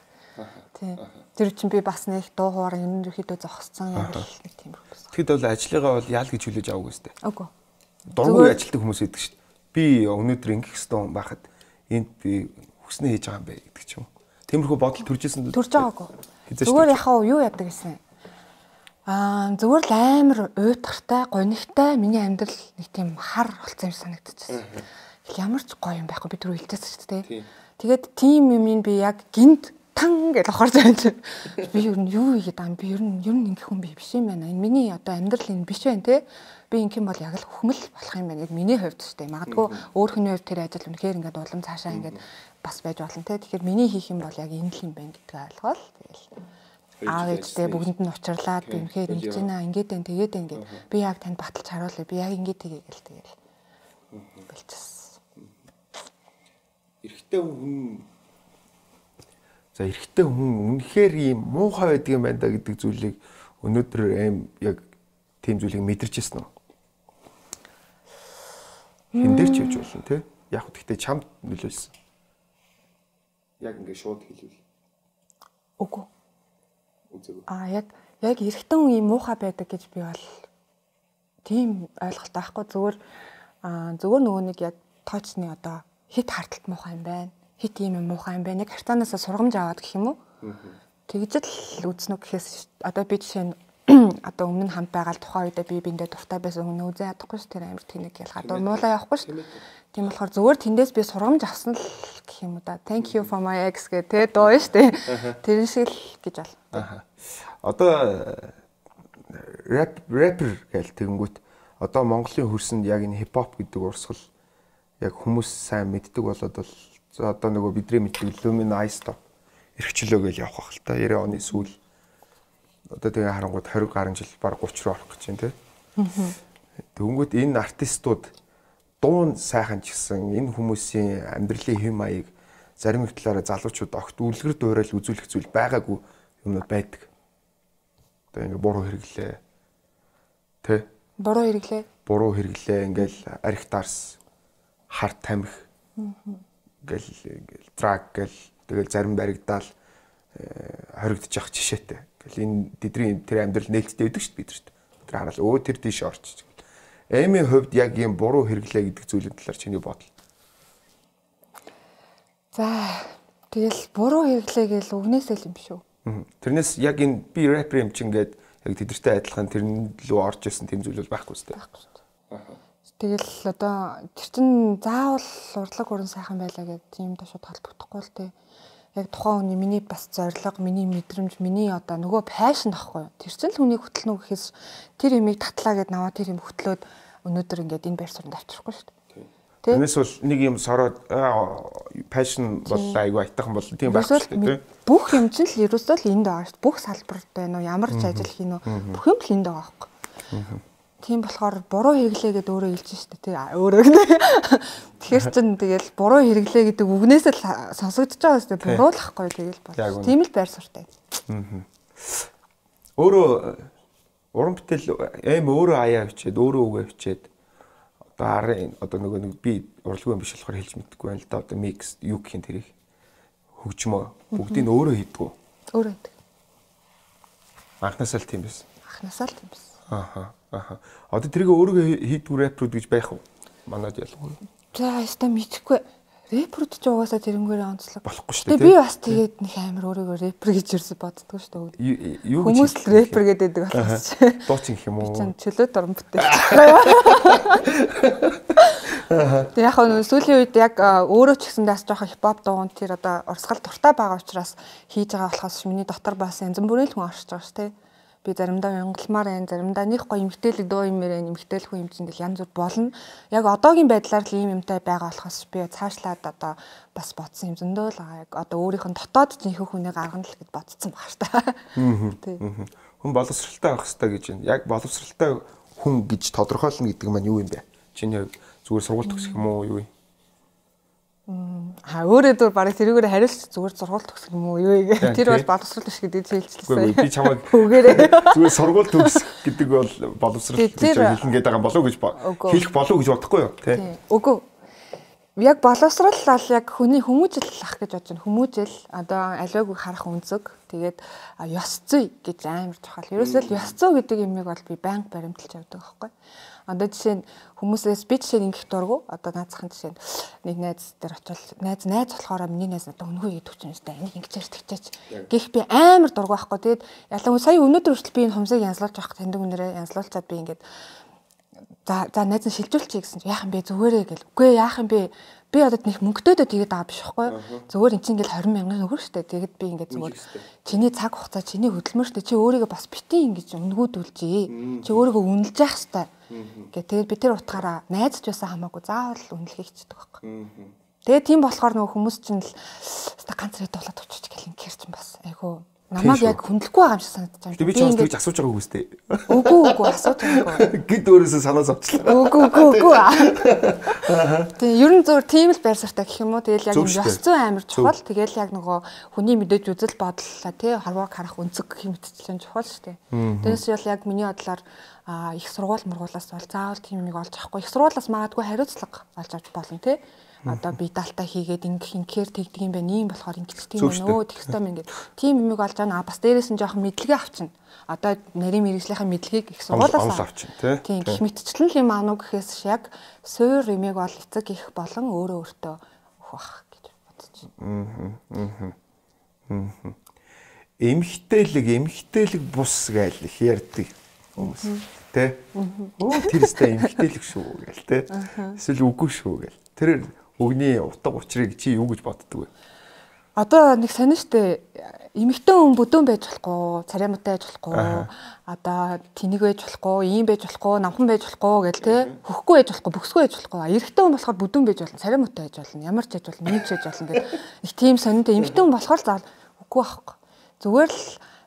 Тий. Тэр чинь би бас нэг дуу хоороо ерөнхийдөө зогссон яг л нэг тийм байсан. Тэгэд бол ажлыгаа бол яал гэж хүлээж аваагүй сте. Үгүй. Дургүй ажилтдаг хүмүүс байдаг шүү дээ. Би өнөөдөр ингэх ёстой хүн байхад энд би хүснээ хийж байгаа юм бэ гэдэг ч юм. Тиймэрхүү бодол төржсэн. Төрж байгаагүй. Зүгээр яхаа юу яадаг гэсэн. Аа зүгээр л амар уйтгартай, гонигтай миний амьдрал нэг тийм хар болсон юм санагдчихсан. Ямар ч гоё юм байхгүй би түрүү хэлчихсэн шүү дээ. Тэгээд тийм юм би яг гинт тан гэж авахарч байна чи. Би ер нь юу хийгээд байгаа юм би ер нь ер нь ингэх хүн би биш юм байна. Энэ миний одоо амьдрал энэ биш байна те. Би ингэх юм бол яг л хөхмөл болох юм байна. Миний хувьд ч тийм. Магадгүй өөр хүний хувьд тэр ажил үнэхээр ингээд улам цаашаа ингээд бас байж болно те. Тэгэхээр миний хийх юм бол яг энэ л юм байна гэдгийг ойлгоол. Тэгэл аав ээжтэй бүгдэнд нь учрлаад би үнэхээр ингэж байна. Ингээд байна тэгээд байна гэд. Би яг танд баталж харуулъя. Би яг ингээд хийгээ гэл тэгэл. Болчихсон. Эрэгтэй хүн За эрэгтэй хүн үнэхээр ийм муухай байдаг юм байна да гэдэг зүйлийг өнөөдөр аим яг тийм зүйлийг мэдэрч ирсэн үү? Хин дээр ч явж болно тий. Яг гэхдээ чамд нөлөөлсөн. Яг ингэ шууд хэлвэл. Үгүй. Үзээгүй. Аа яг яг эрэгтэй хүн ийм муухай байдаг гэж би бол тийм ойлголт байхгүй зүгээр аа зүгээр нөгөө нэг яг тоочны одоо хит харталт муухай юм байна. Хит юм муухай юм байна. Яг хартаанаас сургамж аваад гэх юм уу? Тэгж л үзнэ гэхээс одоо би жишээ нь одоо өмнө хамт байгаа тухайн үедээ би биндээ дуртай байсан хүн үзээ ядахгүй ш тэр амир тэнэг ял гадаа муулаа явахгүй ш. Тийм болохоор зүгээр тэндээс би сургамж авсан л гэх юм уу да. Thank you for my ex гэх тэ дуу ш тэ. Тэр шиг л гэж бол. Аа. Одоо рэп рэпер гэл тэгэнгүүт одоо Монголын хөрсөнд яг энэ хипхоп гэдэг урсгал яг хүмүүс сайн мэддэг болоод бол одоо нөгөө бидний мэддэг Luminous Top эрхчлөө гэж явах хэл та найман оны сүүл одоо тэгээ харангууд хориг гаруй жил баг гурван руу орох гэж байна те. Тэгэнгүүт энэ артистууд дуун сайхан ч гэсэн энэ хүмүүсийн амьдралын хэм маяг зарим их талаараа залуучууд огт үлгэр дуурайл үзүүлэх зүйл байгаагүй юмнууд байдаг. Одоо ингээ буруу хэрэглээ. Тэ? Буруу хэрэглээ. Буруу хэрэглээ ингээл арх дарс харт тамхи гэл ингээл трак гэл тэгэл зарим баригдаал хоригдож явах жишээтэй. Гэл энэ тэдний тэр амьдрал нээлттэй байдаг шүү дээ бид нарт. Тэр хараал өө тэр тийш орчих. Эмийн хувьд яг ийм буруу хэрэглээ гэдэг зүйлийн талаар чиний бодол. За тэгэл буруу хэрэглээ гэл үгнээсээ л юм шүү. Тэрнээс яг энэ би рэпер юм чинь гээд яг тэдэртэй адилхан тэрэн лөө орж исэн тийм зүйл бол байхгүй шүү дээ. Байхгүй шүү дээ. Тэгэл одоо тэр чин заавал урлаг уран сайхан байлаа гэдэг тийм ташууд холбогдохгүй л дээ. Яг тухайн хүний миний бас зориг, миний мэдрэмж, миний одоо нөгөө пашн ахгүй. Тэр чин л хүнийг хөтлөнө гэхээс тэр имийг татлаа гэд наваа тэр юм хөтлөөд өнөөдөр ингээд энэ байр суурьнд авчрахгүй шүү дээ. Тэрнээс бол нэг юм сороод пашн бол айгүй айтайхан бол тийм байхгүй шүү дээ. Бүх юм чинь л ерөөсөө л энд байгаа шүү дээ. Бүх салбарт байна уу, ямар ч ажил хийнэ үү, бүх юм л энд байгаа байхгүй. Тийм болохоор буруу хэрэглээ гэдэг өөрөө хэлж шүү дээ. Тэг өөрөө гэнэ. Тэгэхээр чин тэгэл буруу хэрэглээ гэдэг үгнээс л сонсогдож байгаа шүү дээ. Буруулахгүй тэгэл бол. Тийм л байр суртай. Өөрөө уран бүтээл эм өөрөө аяа хичээд өөрөө үгээ хичээд одоо арын одоо нөгөө нэг би урлаггүй юм биш болохоор хэлж мэдэхгүй байна л да. Одоо микс юу гэх юм тэрийг хөгжмөө бүгдийг өөрөө хийдэг. Өөрөө хийдэг. Анхнаасаа л тийм байсан. Анхнаасаа л тийм байсан. Аха. Аха. Одоо тэрийг өөрөө хийдэг рэперүүд гэж байх уу? Манайд ялангуяа. За, яста мэдхгүй. Рэперүүд ч угаасаа тэрнгээрээ онцлог. Болохгүй шүү дээ. Би бас тэгээд нэг амар өөрийгөө рэпер гэж ерөөсө боддгоо шүү дээ. Хүмүүс л рэпер гэдэг болохоос. Дуучин гэх юм уу? Би ч чөлөөт орон бүтээл. Тэг яг нь сүүлийн үед яг өөрөө ч гэсэн даас жоохон хипхоп дууган тэр одоо урсгал дуртай байгаа учраас хийж байгаа болохоос миний дотор бас янз бүрийн хүн оршиж байгаа шүү дээ. Би заримдаа янгалмаар байна, заримдаа нэг гоё эмгтээлэг дуу юм ярэ, эмгтээлэх хүн юм чинь янз бүр болно. Яг одоогийн байдлаар л ийм юмтай байгаа болохоос би цаашлаад одоо бас бодсон юм зөндөө л байгаа. Яг одоо өөрийнх нь дотоод жинхэнэ хүнээ гаргана л гэж бодсон баг ш та. Тийм. Хүн боловсралтай байх хэрэгтэй гэж байна. Яг боловсралтай хүн гэж тодорхойлно гэдэг маань юу юм бэ? Чиний зүгээр сургууль төгсөх юм уу юу юм? Аа өөрөө дөр барыг тэрүүгээр хариулж зүгээр сургууль төгсөх юм уу юу гэх. Тэр бол боловсрол биш гэдэг хэлчихлээ. Би чамайг үгээрээ зүгээр сургууль төгсөх гэдэг бол боловсрол гэж хэлэн гээд байгаа болов уу гэж хэлэх болов уу гэж бодохгүй юу тий. Үгүй. Яг боловсрал бол яг хүний хүмүүжил ах гэж бодож байна. Хүмүүжил одоо аливаагүй харах үнцэг. Тэгээд ёс зүй гэж амар чухал. Ерөөсөө л ёс зүй гэдэг юмыг бол би байнга баримталж явдаг байхгүй. Одоо жишээ нь хүмүүсээс би жишээ нь ингэх дургу одоо наацхан жишээ нь нэг найз дээр очил найз найз болохоор миний найз надад өнгөө идэх чинь өстэй энийг ингэчээч тэгчээч гэх би амар дургу байхгүй. Тэгээд ялангуяа сая өнөөдөр хүртэл би энэ хумсыг янзлуулж авах тэндэг өнөрөө янзлуулчаад би ингээд за за найз нь шилжүүлчихье гэсэн чинь яах юм бэ зүгээрээ гэл. Үгүй яах юм бэ? Би одоо нэг мөнгөдөөдөө тэгээд байгаа биш байхгүй. Зүгээр эн чинь ингээл двадцать мянган өгөх штэ. Тэгээд би ингээд зүгээр чиний цаг хугацаа чиний хөдөлмөр штэ. Чи өөрийгөө бас битэн ингэж өнгөөдүүлжээ. Чи өөрийгөө үнэлж явах штэ. Гэ тэгээд би тэр утгаараа найзч байсан хамаагүй заавал үнэлэхийг хичдэг байхгүй. Тэгээд тийм болохоор нөгөө хүмүүс чинь л ста ганц хэд болоод очиж гэл ингээр чинь бас айгу намайг яг хүндлэхгүй байгаа юм шиг санагдаж байна. Би ч бас тэгж асууж байгааг үстэй. Үгүй үгүй асууж байгаагүй. Гэт өөрөөсөө санаа зовчлаа. Үгүй үгүй үгүй. Тэгээ ер нь зөв тийм л байр сартай гэх юм уу. Тэгэл яг ёс зүй амар чухал. Тэгэл яг нөгөө хүний мэдээж үзэл бодлоо тий харваг харах үнцэг гэх мэтчлэн чухал шүү дээ. Тэрээс бол яг миний бодлоор их сургууль мургуулаас бол заавал тийм юмыг олж авахгүй. Их сургуулаас магадгүй хариуцлага олж авч болно тий. Одоо би далтаа хийгээд ингэх ингээр тэгдэг юм байна. Ийм болохоор ингэж тийм байна. Өө тэгстэй юм ингээд. Тийм юмыг олж авна. Бас дээрээс нь жоохон мэдлэгээ авчна. Одоо нарийн мэрэгжлийнхаа мэдлэгийг их сургуулаас авчна тийм гэх мэтчлэн юм аав гэхээс яг суур юмыг бол эцэг их болон өөрөө өөртөө өгөх бах гэж бодож байна. Аа. Аа. Эмхтэлэг эмхтэлэг бус гээл их ярьдаг хүмүүс. Тэ? Оо тэр өстэй эмхтэлэг шүү гээл тэ. Эсвэл үгүй шүү гээл. Тэр өгний утга учрыг чи юу гэж боддөг вэ? Одоо нэг сонин штэ эмэгтэй хүн бүдүүн байж болохгүй, цариамтай байж болохгүй, одоо тэнэг байж болохгүй, ийм байж болохгүй, намхан байж болохгүй гэл те хөхгүй байж болохгүй, бөхсгүй байж болохгүй. Эрэгтэй хүн болохоор бүдүүн байж болно, цариамтай байж болно, ямар ч байж болно, нэг ч байж болно гэл их тийм сонинтэй эмэгтэй хүн болохоор заавал үгүй байхгүй. Зүгээр л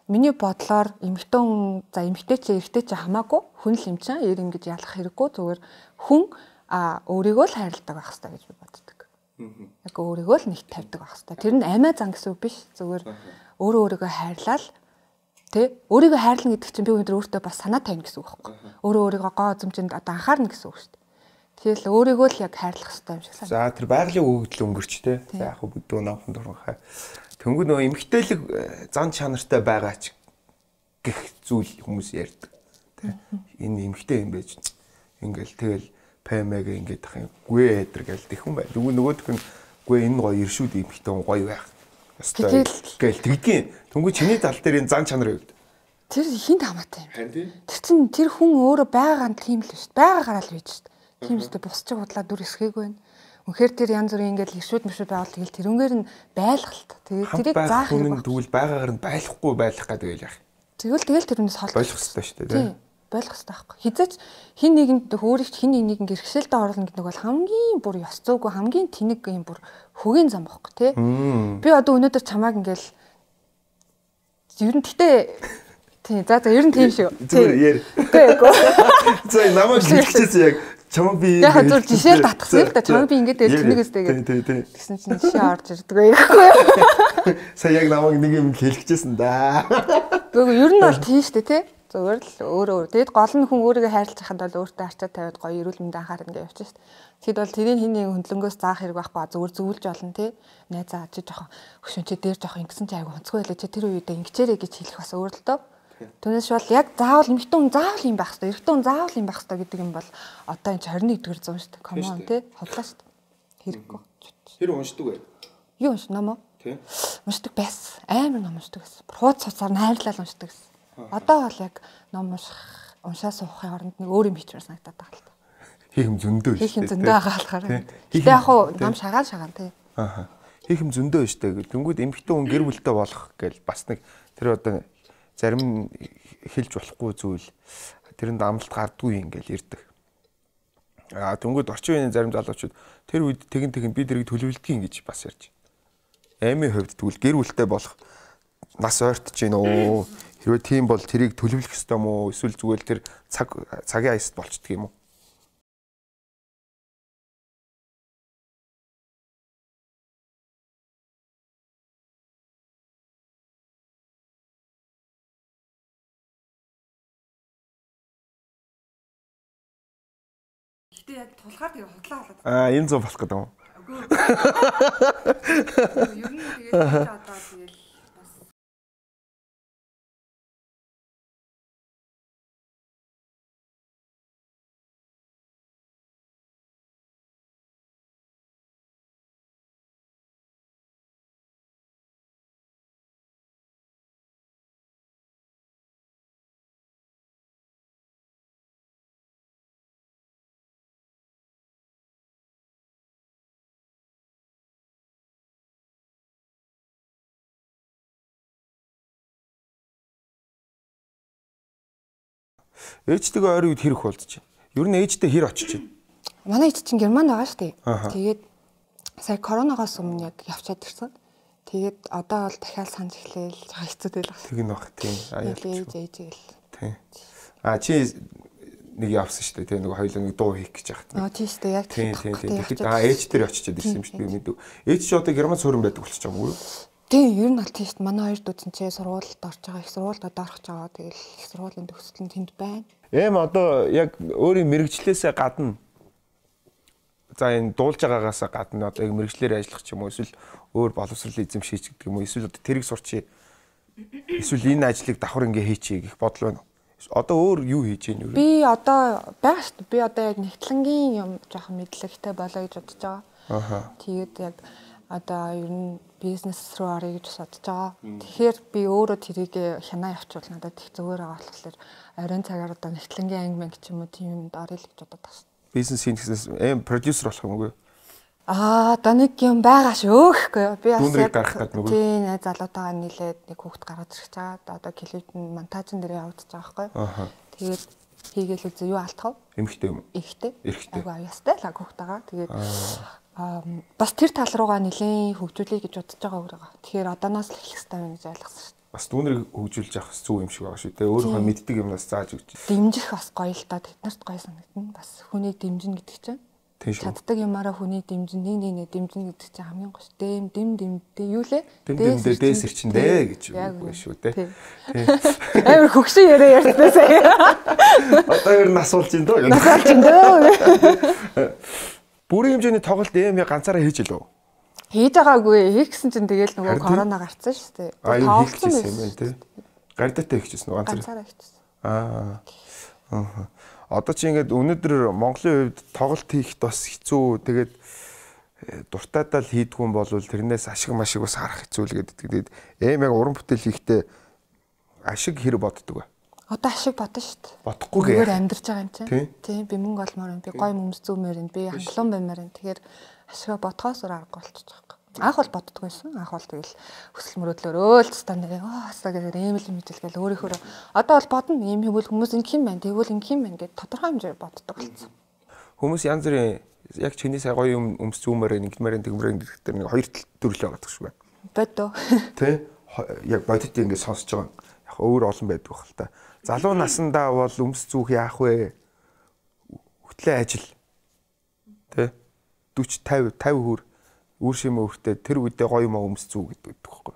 миний бодлоор эмэгтэй хүн за эмэгтэй ч эрэгтэй ч хамаагүй хүн л юм чинь ер ингэж ялах хэрэггүй зүгээр хүн а өөрийгөө л хайрладаг байх хэрэгтэй гэж би боддог. Яг өөрийгөө л нэг тавьдаг байх хэрэгтэй. Тэр нь амиа зан гэсэн үг биш. Зүгээр өөрөө өөрийгөө хайрлал тэ өөрийгөө хайрлна гэдэг чинь би өнөөдөр өөртөө бас санаа тавина гэсэн үг байхгүй. Өөрөө өөрийгөө гоо зэмжинд одоо анхаарна гэсэн үг шүү дээ. Тэгэхээр л өөрийгөө л яг хайрлах хэрэгтэй юм шиг санагдав. За тэр байгалийн өгөгдөл өнгөрч тэ. За яг бүдүү намхан дурхай. Тэнгүү нөө эмгтээлэг зан чанартай байгаа ч гэх зүйл хүмүүс ярьдаг. Тэ. Энэ эмгтэй юм байж. Ингээл тэгэл пэмэг ингээд ах юм гүй эдэр гэл тэхэн бай. Нөгөө нөгөөх нь гүй энэ гоё иршүүд эмхтэй гоё байх. Ястай гэл тэгдгийн. Тэнгүү чиний тал дээр энэ зан чанар өгд. Тэр хинт хамаатай юм. Харин тийм. Тэр чин тэр хүн өөрөө байгаа нь тийм л шүү дээ. Байгаагаар л байж шүү дээ. Тийм үстэй бусч худлаа дүр эсгээгүй байна. Үнэхээр тэр янз бүрийн ингээд иршүүд мөшүүд байвал тэгэл тэрнгээр нь байлгалт. Тэгээд тэрийг заах юм. Тэгвэл байгаагаар нь байхгүй байх гэдэг байл яах. Тэгвэл тэгэл тэрнээс холбох болох хэрэгтэй шүү дээ. Тийм. Болох хэрэгтэй байхгүй. Хизээч хин нэгэнд өөрийг хин нэгэнд гэрхшээлд оруулна гэдэг нь бол хамгийн бүр ёс зүйгүй хамгийн тэнэг юм бүр хөгийн зам байхгүй тий. Би одоо өнөөдөр чамааг ингээл ер нь гэтээ тий за за ер нь тийм шүү. Зүгээр яар. Үгүй эгүй. За намайг хэлчихсэн яг чамаг би яг зөв жишээл татсан л да чамаг би ингээд тэнэгээс тэгээд тэгсэн чинь жишээ орж ирдэг байхгүй. Сая яг намайг нэг юм хэлчихсэн да. Гэхдээ ер нь бол тийм шүү дээ тий. Зүгээр л өөрөө өөр. Тэгэд гол нь хүн өөрийгөө хайрлаж хахад бол өөртөө арчаа тавиад гоё эрүүл мэндэ анхаарна гэж явчих шүү дээ. Тэгэд бол тэрийн хин нэг хөндлөнгөөс заах хэрэг байхгүй зүгээр зөвлөж болно тий. Найзаа чи жоохон хөшөн чи дээр жоохон ингэсэн чи айгу онцгой байлаа чи тэр үедээ ингэчээрэй гэж хэлэх бас өөр л дөө. Түүнээс бол яг заавал эмэгтэй хүн заавал юм байх хэрэгтэй. Эрэгтэй хүн заавал юм байх хэрэгтэй гэдэг юм бол одоо энэ двадцать нэгдүгээр зуун шүү дээ. Комон тий. Хотлаа шүү дээ. Хэрэггүй. Тэр уншдаг бай. Юу унш ном уу? Тий. Уншдаг байсан. Амар ном уншдаг байсан. Хууц цуцаар найрлал уншдаг байсан. Одоо бол яг ном унших, уншаа суухын оронд нэг өөр юм хийчмээр санагдаад байгаа л та. Хийх юм зөндөө шүү дээ. Хийх юм зөндөө байгаа болохоор. Гэтэ яг хуу ном шагаан шагаан тий. Аа. Хийх юм зөндөө шүү дээ. Тэнгүүд эмэгтэй хүн гэр бүлтэй болох гээл бас нэг тэр одоо зарим нь хэлж болохгүй зүйл тэрэнд амлалт гардгүй юм гээл ирдэг. Аа тэнгүүд орчин үеийн зарим залуучууд тэр үед тэгин тэгин би дэрийг төлөвлөдгийг гэж бас ярьж. Аймын хувьд тэгвэл гэр бүлтэй болох нас ойртож гин өө. Хэрвээ тийм бол тэрийг төлөвлөх ёстой юм уу? Эсвэл зүгээр тэр цаг цагийн аяст болчдөг юм уу? Гэтэ яг тулгаар тэгээ худлаа болоод. Аа энэ зов болох гэдэг юм. Үгүй. Ер нь тэгээд одоо тэгэл бас Ээжтэйгээ ойр үед хэрэг болдож байна. Ер нь ээжтэй хэр очиж байна? манай ээж чинь Германд байгаа шүү дээ. Тэгээд сая коронавигоос өмнө яг явчаад ирсэн. Тэгээд одоо бол дахиад санаж эхлээл хэцүү дээ л байна. Тэг нь баг тийм. Ээж ээж гэл. Тийм. А чи нэг явсан шүү дээ. Тэгээ нэг хоёулаа нэг дуу хийх гэж яхад. Аа тийм шүү дээ. Яг тийм тийм тийм. Тэгэхэд аа ээж дээр очиж ирсэн юм шүү дээ. Мэдв. Ээж чи одоо Германд суурин байдаг болчих юм уу? Тийм, ер нь бол тийм шүү дээ. Манай хоёр дүүцэн чи сургуульд орж байгаа. Их сургуульд одоо орох гэж байгаа. Тэгэл их сургуулийн төгсөл нь тэнд байна. Эм одоо яг өөрийн мэрэгчлээсээ гадна за энэ дуулж байгаагаас гадна одоо яг мэрэгчлэр ажиллах ч юм уу эсвэл өөр боловсролын эзэм шийч гэдэг юм уу эсвэл одоо тэрийг сурчий эсвэл энэ ажлыг давхар ингээ хийчихье гэх бодол байна уу? Одоо өөр юу хийж ийн юу? Би одоо байгаа шүү дээ. Би одоо яг нэгтлэнгийн юм жоохон мэдлэгтэй болоо гэж бодож байгаа. Аха. Тэгээд яг одоо ер нь бизнес руу орё гэж бодож байгаа. Тэгэхээр би өөрөө тэрийг хянаа явуучвал надад их зүгээр байгаа болохоор оройн цагаар одоо нэгтлэнгийн анги мэнг ч юм уу тийм юмд орё л гэж бодоод байна. Бизнес хийхээс эм продюсер болох юм уу? Аа, одоо нэг юм байгаа шөөхгүй. Би бас яг гарах гэдэг нүгөө. Тийм, найз залуутайгаа нийлээд нэг хүүхэд гаргаж ирэх чаад одоо клипэн монтажн дээр явагдаж байгаа байхгүй. Аха. Тэгээд хийгээл үзээ юу алдах вэ? Эмхтэй юм. Эрэгтэй. Эрэгтэй. Ага, ястай л хүүхдтэйгаа. Тэгээд аа бас тэр тал руугаа нэлээд хөгжүүлэе гэж бодож байгаа өөрөө. Тэгэхээр одооноос л эхлэх хэрэгтэй байна гэж ойлгосон шүү. Бас түүнийг хөгжүүлж явах зүг юм шиг байгаа шүү. Тэгээ өөрөө мэддэг юмнаас зааж өгч. Дэмжих бас гоё л да. Тэднэрт гоё санагдана. Бас хүний дэмжин гэдэг чинь. Чаддаг юмараа хүний дэмжин нэг нэг нэг дэмжин гэдэг чинь хамгийн гоё шүү. Дэм дэм дэмдээ юу лээ? Дэм дэм дээс ирчэндээ гэж үгүй шүү дээ. Амар хөгшин яриа ярьсан сая. Одоо ер нь асуулж ин дөө. Асуулж ин дөө. Бүрийн хэмжээний тоглолт эм ганцаараа хийж илүү. Хийж байгаагүй. Хийх гэсэн чинь тэгэл нөгөө корона гарцсан шүү дээ. Тоглолцсон юм байна тий. Гардатаа хийчихсэн үү ганцаараа? Ганцаараа хийчихсэн. Аа. Аа. Одоо чи ингээд өнөөдөр Монголын хувьд тоглолт хийхэд бас хэцүү. Тэгээд дуртайдаа л хийдгүй юм бол тэрнээс ашиг машиг бас харах хэцүү л гэдэг. Тэгээд эм яг уран бүтээл хийхдээ ашиг хэр боддог вэ? Одоо ашиг бодно шүү дээ. Бодохгүй гээ. Зүгээр амьдарч байгаа юм чинь. Тийм би мөнгө олмоор юм. Би гой өмс зүүмээр юм. Би хангалуун баймаар юм. Тэгэхээр ашигаа бодхоос өөр аргагүй болчихж байгаа. Анх бол боддггүйсэн. Анх бол тэгэл хүсэл мөрөөдлөөр өөл цастан нэг аа хасаа гэдэг ийм л мэдээлгээл өөрийнхөө одоо бол бодно ийм хэвэл хүмүүс ингэх юм байна. Тэгвэл ингэх юм байна гэд тодорхой хэмжээр боддог болсон. Хүмүүс янз бүрийн яг чиний сая гоё юм өмс зүүмээр ингэмээр тэгмээр гэдэг нэг хоёр төрлөө байгаа шүү байна. Бодоо. Тэ яг бодит ингэ сонсож байгаа. Яг өөр олон байдаг бахал та. Залуу насандаа бол өмс зүүх яах вэ? Хөтлөө ажил. Тэ forty fifty fifty хүр үр шимээ өртөө тэр үедээ гоё юм өмс зүү гэдэг байхгүй.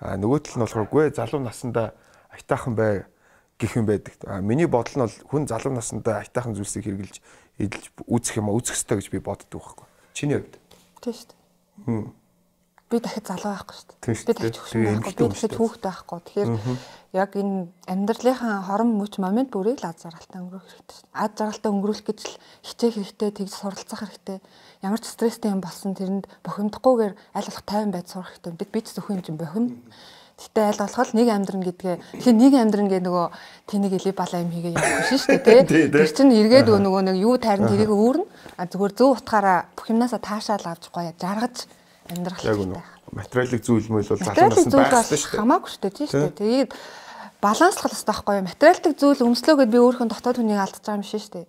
А нөгөө тал нь болохоор гүй залуу насандаа айтаахан бай гэх юм байдаг. А миний бодол нь бол хүн залуу насандаа айтаахан зүйлсийг хэрэгжилж эдэлж үүсэх юм үүсэх ёстой гэж би боддог байхгүй. Чиний хувьд? Тийм шүү дээ. Би дахиад залуу байхгүй шүү дээ. Би дахиад хөшин байхгүй. Би дахиад хүүхэд байхгүй. Тэгэхээр яг энэ амьдралынхаа хорон мөч момент бүрийг л аз жаргалтай өнгөрөх хэрэгтэй шүү дээ. Аз жаргалтай өнгөрүүлэх гэж л хичээх хэрэгтэй, тэгж суралцах хэрэгтэй. Ямар ч стресстэй юм болсон тэрэнд бохимдохгүйгээр аль болох тайван байж сурах хэрэгтэй. Бид бид зөвхөн юм чинь бохим. Гэтэ аль болох нэг амьдран гэдгээ тэгэхээр нэг амьдран гэ нөгөө тэнийг эле балаа юм хийгээ явах биш шүү дээ тий. Тэр чинь эргээд нөгөө нэг юу тайрн тэрийг өөрнө. А зүгээр зөв утгаараа бүх юмнасаа таашаал авч гоё жаргаж амьдрах хэрэгтэй. Материалын зүйл мөл бол залуу наснд байх шүү дээ. Хамаагүй шүү дээ тий шүү дээ. Тэгээд баланслах хэрэгтэй байхгүй юу? Материалын зүйл өмслөө гэд би өөрийнхөө дотоод хүнийг алдчих байгаа юм шиг шүү дээ.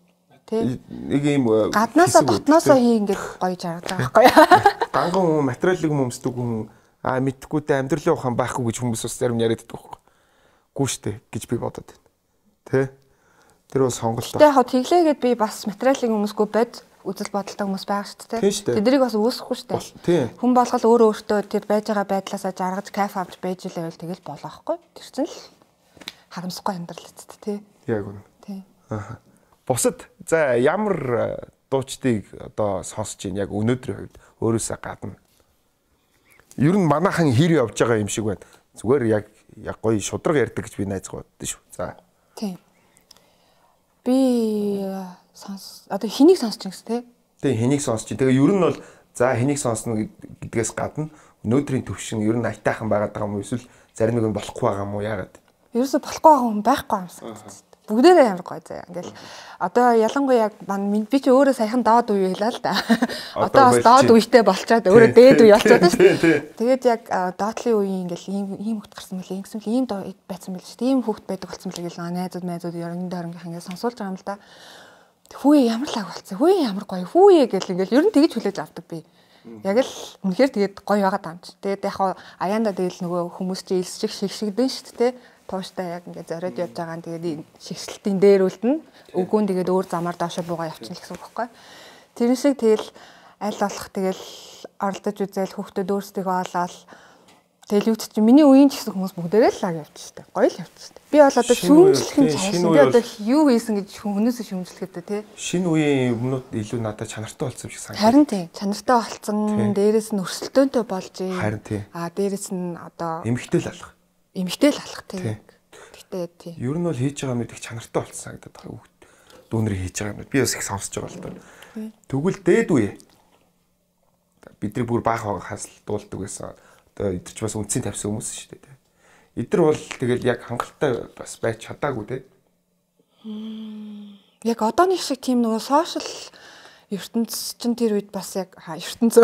Нэг юм гаднаасаа дотноосоо хий ингээд гоё жаргаж байгаа байхгүй юу? Ганган хүн материалыг өмсдөг хүн аа мэдхгүйтэй амьдралын ухаан байхгүй гэж хүмүүс бас зарим яриад байдаг байхгүй. Гүү штэ гэж би бодод байна. Тэ? Тэр бол сонголт. Тэ яг тэглээгээд би бас материалыг өмсгөө бод үзэл бодолтой хүмүүс байгаа шүү дээ. Тэднийг бас үүсэхгүй шүү дээ. Хүн болгол өөрөө өөртөө тэр байж байгаа байдлаасаа жаргаж кайф авч байж илээвэл тэгэл болохгүй. Тэр чинь л харамсахгүй амьдрал эцэст тий. Яг үнэ. Тий. Аа. Бусад за ямар дуучдыг одоо сонсож ийн яг өнөөдрийн хувьд өөрөөсөө гадна. Ер нь манайхан хэр явж байгаа юм шиг байна. Зүгээр яг яг гоё шудраг ярьдаг гэж би найзгаа боддоо шүү. За. Тийм. Би сонс одоо хэнийг сонсч ингэс те? Тэгээ хэнийг сонсч чинь. Тэгээ ер нь бол за хэнийг сонсно гэдгээс гадна өнөөдрийн төвшин ер нь айтайхан байгаад байгаа юм уу эсвэл зарим нэг нь болохгүй байгаа юм уу яагаад? Ерөөсө болохгүй байгаа хүн байхгүй юм санагдаж. Бүгдээрээ ямар гоё заяа. Ингээл одоо ялангуяа яг би чи өөрөө саяхан доод үе хэлээ л да. Одоо бас доод үетэй болчоод өөрөө дээд үе болчиход шүү. Тэгээд яг доотлын үеийн ингээл ийм ийм хөвгт гарсан мөлий ингэсэн ийм байцсан мөлий шүү. Тийм хөвгт байдаг болсон мөлий гэл найзууд найзууд ерөнхийдөө орнгийнх ингээд сонсуулж байгаа юм л да. Хүүе ямар лаг болцсон. Хүүе ямар гоё. Хүүе гэл ингээл ер нь тэгэж хүлээж авдаг би. Яг л үнэхээр тэгээд гоё байгаа даа юм чи. Тэгээд яг аяанда тэгэл нөгөө хүмүүс чи илсчих шигшигдэн шүү дээ. Тууштай яг ингээд зориод явж байгаа нь тэгээд шигшэлтийн дээр үлдэн өгөөн тэгээд өөр замаар доошо буугаа явчихна гэсэн үг байхгүй. Тэр шиг тэгэл аль болох тэгэл оролдож үзэл хүүхдүүд өөрсдөө олоод тэгэл юу ч чинь миний үеийн ч гэсэн хүмүүс бүгдээрээ л лаг явж штэ. Гоё л явж штэ. Би бол одоо шүүмжлэх нь цааш би одоо юу хийсэн гэж хүмүүсээ шүүмжлэхэд тий. Шинэ үеийн өмнөд илүү надад чанартай болсон юм шиг санагдав. Харин тий. Чанартай болсон, дээрээс нь өрсөлдөөнтэй болж ий. Харин тий. Аа дээрээс нь одоо эмгтэй л алах. Эмгтэй л алах тий. Гэхдээ тий. Ер нь бол хийж байгаа юмнууд их чанартай болсон санагдаад байгаа хүүхд. Дүүнэр хийж байгаа юмнууд би бас их сонсож байгаа л доо. Тэгвэл дээд үе. Бидний бүр баах байгахаас л дуулдаг байсан. Одоо эдгэрч бас үнцийн тавьсан хүмүүс шүү дээ. Эдгэр бол тэгэл яг хангалттай бас байж чадаагүй тий. Яг одооних шиг тийм нөгөө сошиал ертөнц чинь тэр үед бас яг ертөнц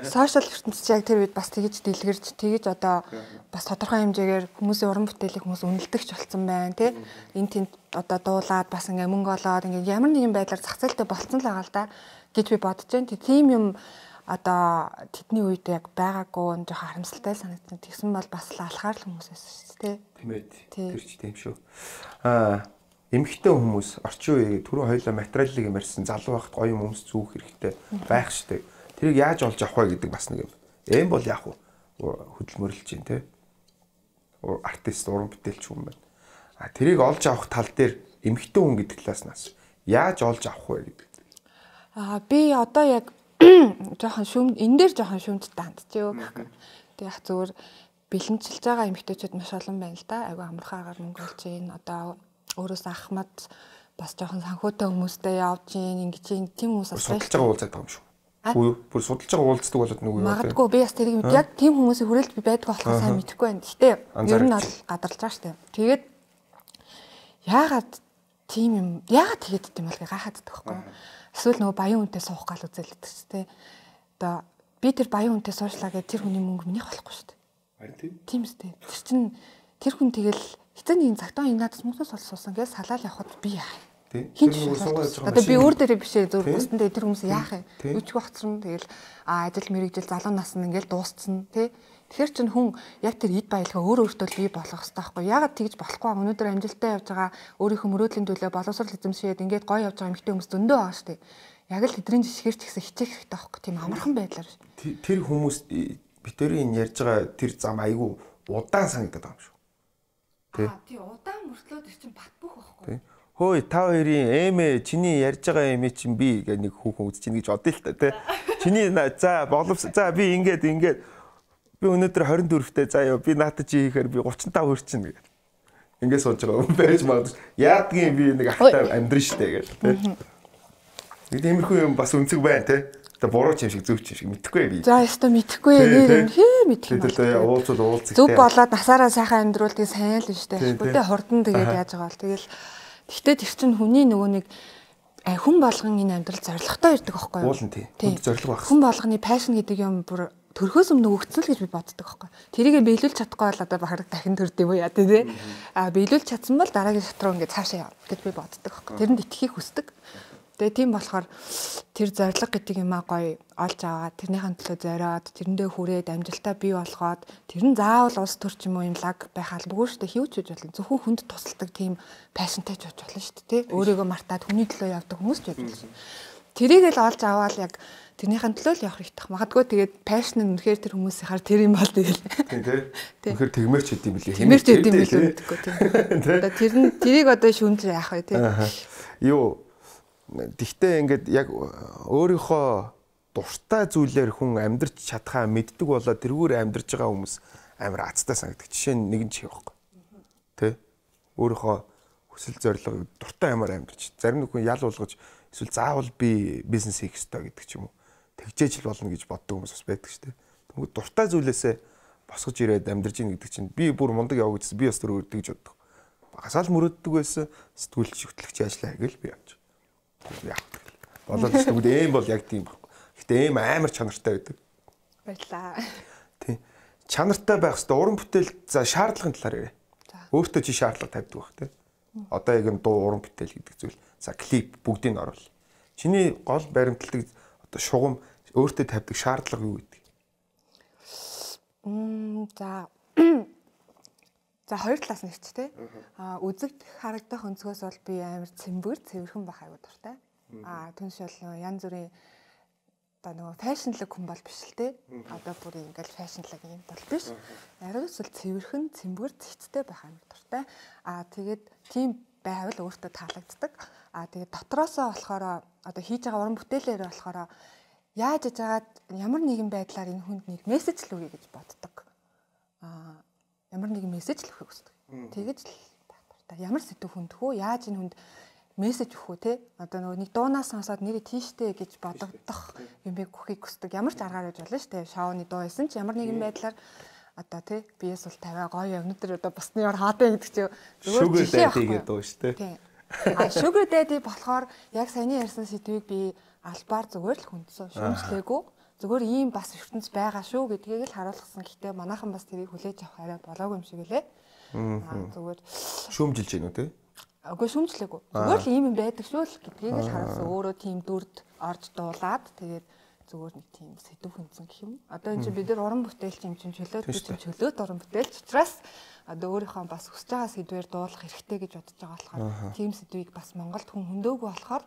сошиал ертөнц чинь яг тэр үед бас тэгэж дэлгэрч тэгэж одоо бас тодорхой хэмжээгээр хүмүүсийн уран бүтээлийг хүмүүс үнэлдэгч болсон байна тий. Энд тэнд одоо дуулаад бас ингээ мөнгө олоод ингээ ямар нэгэн байдлаар зах зээлтэй болцсон л байгаа л да гэж би бодож байна. Тийм юм одоо тэдний үед яг байгаагүй жоохон харамсалтай санагдсан. Тэгсэн бол бас л алхаар л хүмүүс байсан шүү дээ тийм ээ. Тэр ч тийм шүү. Аа эмэгтэй хүмүүс орчин үеийн түрүү хоёулаа материалыг юмарсан залуу байхад гоё юм өмс зүүх хэрэгтэй байх штеп. Тэрийг яаж олж авах вэ гэдэг бас нэг юм. Эм бол яг хөдөлмөрлөж чинь тий. Артист уран бүтээлч хүн байна. А тэрийг олж авах тал дээр эмэгтэй хүн гэдэг талаас яаж олж авах вэ гэдэг. Аа би одоо яг жоохон шүм энэ дээр жоохон шүмжтэй хандчихё гэх юм. Тэг яг зүгээр бэлэнчилж байгаа эмэгтэйчүүд маш олон байна л да. Айгу амархаагаар мөнгө олж ийн одоо өөрөөс ахмад бас жоохон санхүүтэй хүмүүстэй явж ийн ингэж ийн тийм хүмүүс бас судалж байгаа уулзаад байгаа юм шүү. Үгүй бүр судалж байгаа уулздаг болоод нэг үү. Магадгүй би бас тэрийг яг тийм хүмүүсийн хүрээлт би байдаг болохоо сайн мэдэхгүй байна. Гэтэ ер нь бол гадарлаж байгаа штэ. Тэгээд яагаад тийм юм яагаад тэгээд тийм бол гайхаад байгаа байхгүй. Эсвэл нөгөө баян үнтэй суух гал үзэлдэг ч тий. Одоо би тэр баян үнтэй суушлаа гэж тэр хүний мөнгө минийх болохгүй шүү дээ. Харин тийм. Тийм үстэй. Тэр чин тэр хүн тэгэл эцэний загтаа инадас мөнгөөс олсуусан гэж салаал явахад би яах юм. Хин ч одоо би өөр дээрээ бишээ зөв бүсэндээ тэр хүмүүс яах юм. Үчиг багцсан тэгэл а ажил мэрэгжил залуу нас нь ингээл дуусцсан тий. Тэгэхээр чин хүн яг тэр эд баялгаа өөр өөртөө бий болгох хэрэгтэй байхгүй. Ягаад тэгж болохгүй юм. Өнөөдөр амжилттай явж байгаа өөрийнхөө мөрөөдлийн төлөө боловсрол эзэмшээд ингээд гоё явж байгаа эмэгтэй хүмүүс зөндөө байгаа шүү дээ. Яг л тэдний жишгээр ч гэсэн хичээх хэрэгтэй байхгүй. Тийм амархан байдлаар. Тэр хүмүүс битэрийн ярьж байгаа тэр зам айгүй удаан санагдаад байгаа юм шүү. Тий. Тий удаан мөртлөө тэр чин бат бөх байхгүй. Хөөе та хоёрын эмээ чиний ярьж байгаа эмээ чинь би гэх нэг хүүхэн үзэж ийн гэж бодъё л та тий. Чиний за боловс за би ингээд ингээд би өнөөдөр хорин дөрөвтэй заяа би наатад чи хийхээр би гучин тав хүрчин гэдэг. Ингээд сууж байгаа юм байж магадгүй. Яадгийн би нэг ахтай амьдрын штэ гэж тий. Нэг тиймэрхүү юм бас үнцэг байна тий. Тэ буруу ч юм шиг зөв ч юм шиг мэдэхгүй би. За яста мэдэхгүй нэр юм хээ мэдэх юм. Тэгээ уулзууд уулзах. Зөв болоод насаараа сайхан амьдруулдаг сайн л нь штэ. Бүгдээ хурдан тэгээд яаж байгаа бол тэгэл гэхдээ тэр чинь хүний нөгөө нэг хүн болгон энэ амьдрал зоригтой ирдэг байхгүй юу? Уулын тий. Зориг байх. Хүн болгоны пашн гэдэг юм бүр төрхөөс өмнө өгцөл гэж би боддог байхгүй. Тэрийг биелүүлж чадахгүй бол одоо бахараг дахин төрд юм уу яа тий. А биелүүлж чадсан бол дараагийн шат руу ингээд цаашаа яв гэж би боддог байхгүй. Тэрэнд итгэхийг хүсдэг. Тэгээ тийм болохоор тэр зориг гэдэг юмаа гоё олж аваад тэрнийхэн төлөө зориод тэрэндээ хүрээд амжилтаа бий болгоод тэр нь заавал улс төр ч юм уу юм лаг байх албагүй шүү дээ. Хивч үж болно. Зөвхөн хүнд тусалдаг тийм пашнтай ч болж болно шүү дээ. Өөрийгөө мартаад хүний төлөө явдаг хүмүүс ч байдаг шин. Тэрийг л олж аваад яг тэрнийхэн төлөө л явах хэрэгтэй. Магадгүй тэгээд пашн нь үнэхээр тэр хүмүүсийнхаар тэр юм бол тэгэл. Тийм тий. Үнэхээр тэгмэрч хэд юм билээ. Тэгмэрч хэд юм билээ гэдэггүй тийм. Одоо тэр нь тэрийг одоо шүүмж яах вэ тий. Юу Тэгтээ ингээд яг өөрийнхөө дуртай зүйлээр хүн амьдрч чадхаа мэддэг болоо тэрүүгээр амьдрж байгаа хүмүүс амар азтай санагдаг. Жишээ нь нэгэн чих байхгүй. Тэ? Өөрийнхөө хүсэл зорилго дуртай амар амьдрч. Зарим нэг хүн ял болгож эсвэл заавал би бизнес хийх ёстой гэдэг ч юм уу. Тэгжээж л болно гэж боддог хүмүүс бас байдаг шүү дээ. Тэгвэл дуртай зүйлээсээ босгож ирээд амьдрж ийн гэдэг чинь би бүр мундаг яваа гэсэн би бас тэр үрдэг гэж боддог. Багасаал мөрөддөг байсан сэтгүүлч хөтлөгч ажиллаа гэл би явж. Яг болоод тэгвэл эм бол яг тийм байхгүй. Гэтэ эм амар чанартай байдаг. Баярлаа. Тийм. Чанартай байх хэвээр уран бүтээл за шаардлагын талаар яриа. Өөртөө чи шаардлага тавьдаг байх тийм. Одоо яг нь дуу уран бүтээл гэдэг зүйл. За клип бүгдийг нь оруулъя. Чиний гол баримтлагдаг одоо шугам өөртөө тавьдаг шаардлага юу гэдэг? Мм за за хоёр талаас нь ч тий. Аа үзэгд харагдах өнцгөөс бол би амар цэмбэр цэвэрхэн байх аюу дуртай. Аа түнш бол янз бүрийн одоо нөгөө фэшнлэг хүн бол биш л тий. Одоо бүр ингээл фэшнлэг юм бол биш. Ариус л цэвэрхэн цэмбэр цэгцтэй байх амар дуртай. Аа тэгээд тийм байвал өөртөө таалагддаг. Аа тэгээд дотроосоо болохоор одоо хийж байгаа уран бүтээлээр болохоор яаж иж агаад ямар нэгэн байдлаар энэ хүнд нэг мессеж л өгье гэж боддог. Аа ямар нэгэн мессеж л өгөхийг хүсдэг. Тэгэж л байх дуртай. Ямар сэдв хүндэх үү? Яаж энэ хүнд мессеж өгөх үү те? Одоо нөгөө нэг дуунаас сонсоод нэрээ тийштэй гэж бодогдох юм би өгөхийг хүсдэг. Ямар ч аргаар байж болно шүү дээ. Шоуны дуу байсан ч ямар нэгэн байдлаар одоо те биес бол тавиа гоё өнөдөр одоо бусны ор хаадаа гэдэг чи зүгээр жишээ авах дуу шүү дээ. А sugar daddy болохоор яг саяны ярьсан сэдвийг би албаар зүгээр л хүндсэн. Шүүмжлээгүй. Зүгээр ийм бас ертөнц байгаа шүү гэдгийг л харуулсан. Гэхдээ манайхан бас тэрийг хүлээж авах арай болоогүй юм шиг үлээ. Аа зүгээр шүүмжилж гинүү те. Үгүй шүүмжлээгүй. Зүгээр л ийм юм байдаг шүү л гэдгийг л харуулсан. Өөрөө тийм дүрд орж дуулаад тэгээд зүгээр нэг тийм сэдв хүндсэн гэх юм. Одоо энэ чинь бид нар уран бүтээлч юм чинь чөлөөт би чинь чөлөөт уран бүтээлч учраас одоо өөрийнхөө бас хүсэж байгаа сэдвээр дуулах хэрэгтэй гэж бодож байгаа болохоор тийм сэдвийг бас Монголд хүн хөндөөгүй болохоор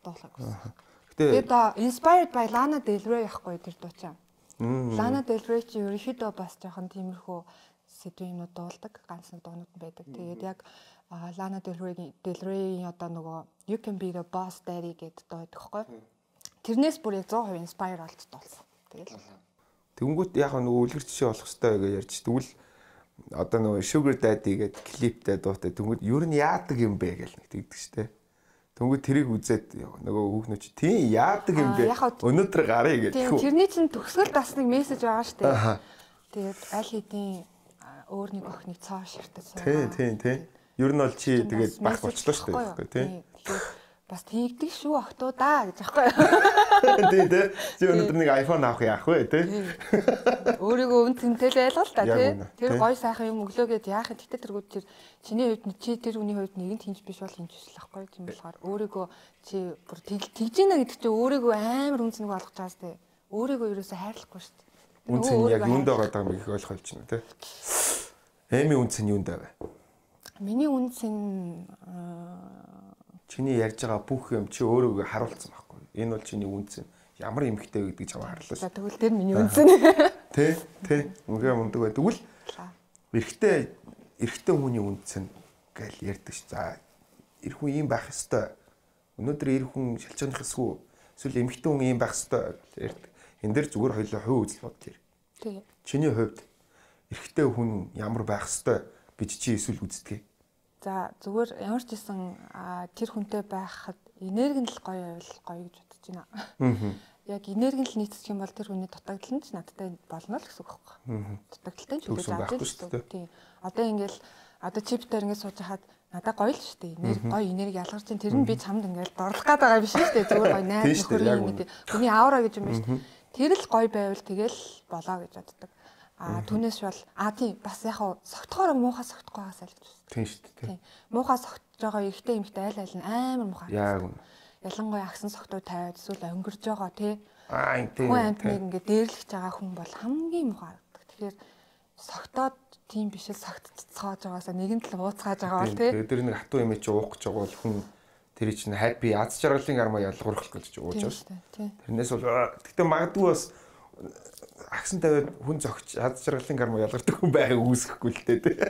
дуулах гэсэн. Тэгээд inspired by Lana Del Rey яахгүй тэр дуучаа. Lana Del Rey чи ерөнхийдөө бас жоохон тиймэрхүү сэдвийн юмнууд дуулдаг, ганц нэг дуунууд байдаг. Тэгээд яг Lana Del Rey Del Rey одоо нөгөө You Can Be the Boss Daddy гэдэг дуу байдаг хгүй. Тэрнээс бүр яг сто процент inspire болж дуулсан. Тэгэл. Тэнгүүт яг нөгөө үлгэр жишээ болох хэрэгтэй гэж ярьж тэгвэл одоо нөгөө Sugar Daddy гэдэг клиптэй дуутай тэнгүүт ер нь яадаг юм бэ гэж нэг тэгдэг штэ. Тэнгүүт тэрийг үзээд нөгөө хүүхнүүд чи тийм яадаг юм бэ? Өнөөдөр гарыг гэдэг. Тийм тэрний чинь төгсгөл бас нэг мессеж байгаа штэ. Тэгээд аль хэдийн өөр нэг охиныг цоо ширтэж суугаа. Тийм тийм тийм. Ер нь бол чи тэгээд бах болчлоо штэ тийм. Бас тэгдэг шүү охтуудаа гэж аахгүй. Тий, тий. Чи өнөөдөр нэг iPhone авах яах вэ, тий? Өөрийгөө үн цэнтэй л байлгал та, тий. Тэр гой сайхан юм өглөө гэд яах вэ? Тэгтээ тэргүүд тэр чиний хувьд чи тэр хүний хувьд нэгэнт хинж биш бол хинж биш л аахгүй юм болохоор өөрийгөө чи бүр тэгж ийна гэдэг чи өөрийгөө амар үн цэнэг болгож байгаас тий. Өөрийгөө ерөөсөө хайрлахгүй шүү дээ. Үн цэн яг юунд байгаа юм их ойлгох юм тий. Эми үн цэн юунд вэ? Миний үн цэн чиний ярьж байгаа бүх юм чи өөрийгөө харуулсан байхгүй. Энэ бол чиний үнцэн. Ямар эмхтэй гэдэг чамаа харлаа. За тэгвэл тэр миний үнцэн. Тэ, тэ. Үнгээ мундаг бай. Тэгвэл эрэгтэй эрэгтэй хүний үнцэн гэж ярьдаг ш. За эр хүн ийм байх ёстой. Өнөөдөр эр хүн шалчааных эсгүй эсвэл эмэгтэй хүн ийм байх ёстой гэж ярьдаг. Энд дэр зүгээр хоёулаа хувь үзэл бодъё. Тэг. Чиний хувьд эрэгтэй хүн ямар байх ёстой гэж чи эсвэл үздэг. За зүгээр ямар ч гэсэн тэр хүнтэй байхад энерги нь л гоё байвал гоё гэж бодож байна. Аа. Яг энерги нь л нийцчих юм бол тэр хүний дутагдал нь ч надтай болно л гэсэн үг байхгүй. Дутагдaltaй ч үгүй зааж шүү дээ. Тийм. Одоо ингээл одоо чиптээр ингээд сууж хахад надад гоё л шүү дээ. Энерги гоё энерги ялгарч чинь тэр нь би чамд ингээд дорлох гээд байгаа биш шүү дээ. Зүгээр гоё найз нөхөр юм гэдэг. Хүний аура гэж юм байна шүү дээ. Тэр л гоё байвал тэгэл болоо гэж боддог. А түүнээс бол а тийм бас яг согтохоор муухай согтохгүй байгаас айлж байна. Тийм шүү дээ. Тийм. Муухай согтож байгаа эрэгтэй эмэгтэй айл айл нь амар муухай. Яг үнэ. Ялангуяа агсан согтуу тавиад эсвэл өнгөрж байгаа тий. Аа тийм. Хүн амьтныг ингээд дээрлэж байгаа хүн бол хамгийн муухай харагддаг. Тэгэхээр согтоод тийм биш л согтцоож байгаасаа нэгэн тал ууцгааж байгаа бол тий. Тэр нэг хатуу юм чи уух гэж байгаа бол хүн тэр чинь happy аз жаргалын армаа ялгуурах гэж ууж байгаа шүү дээ. Тэрнээс бол гэтээ магадгүй бас агсан тавиад хүн зогч хад жаргалын карма ялгардаг хүн байхыг үүсэхгүй л дээ.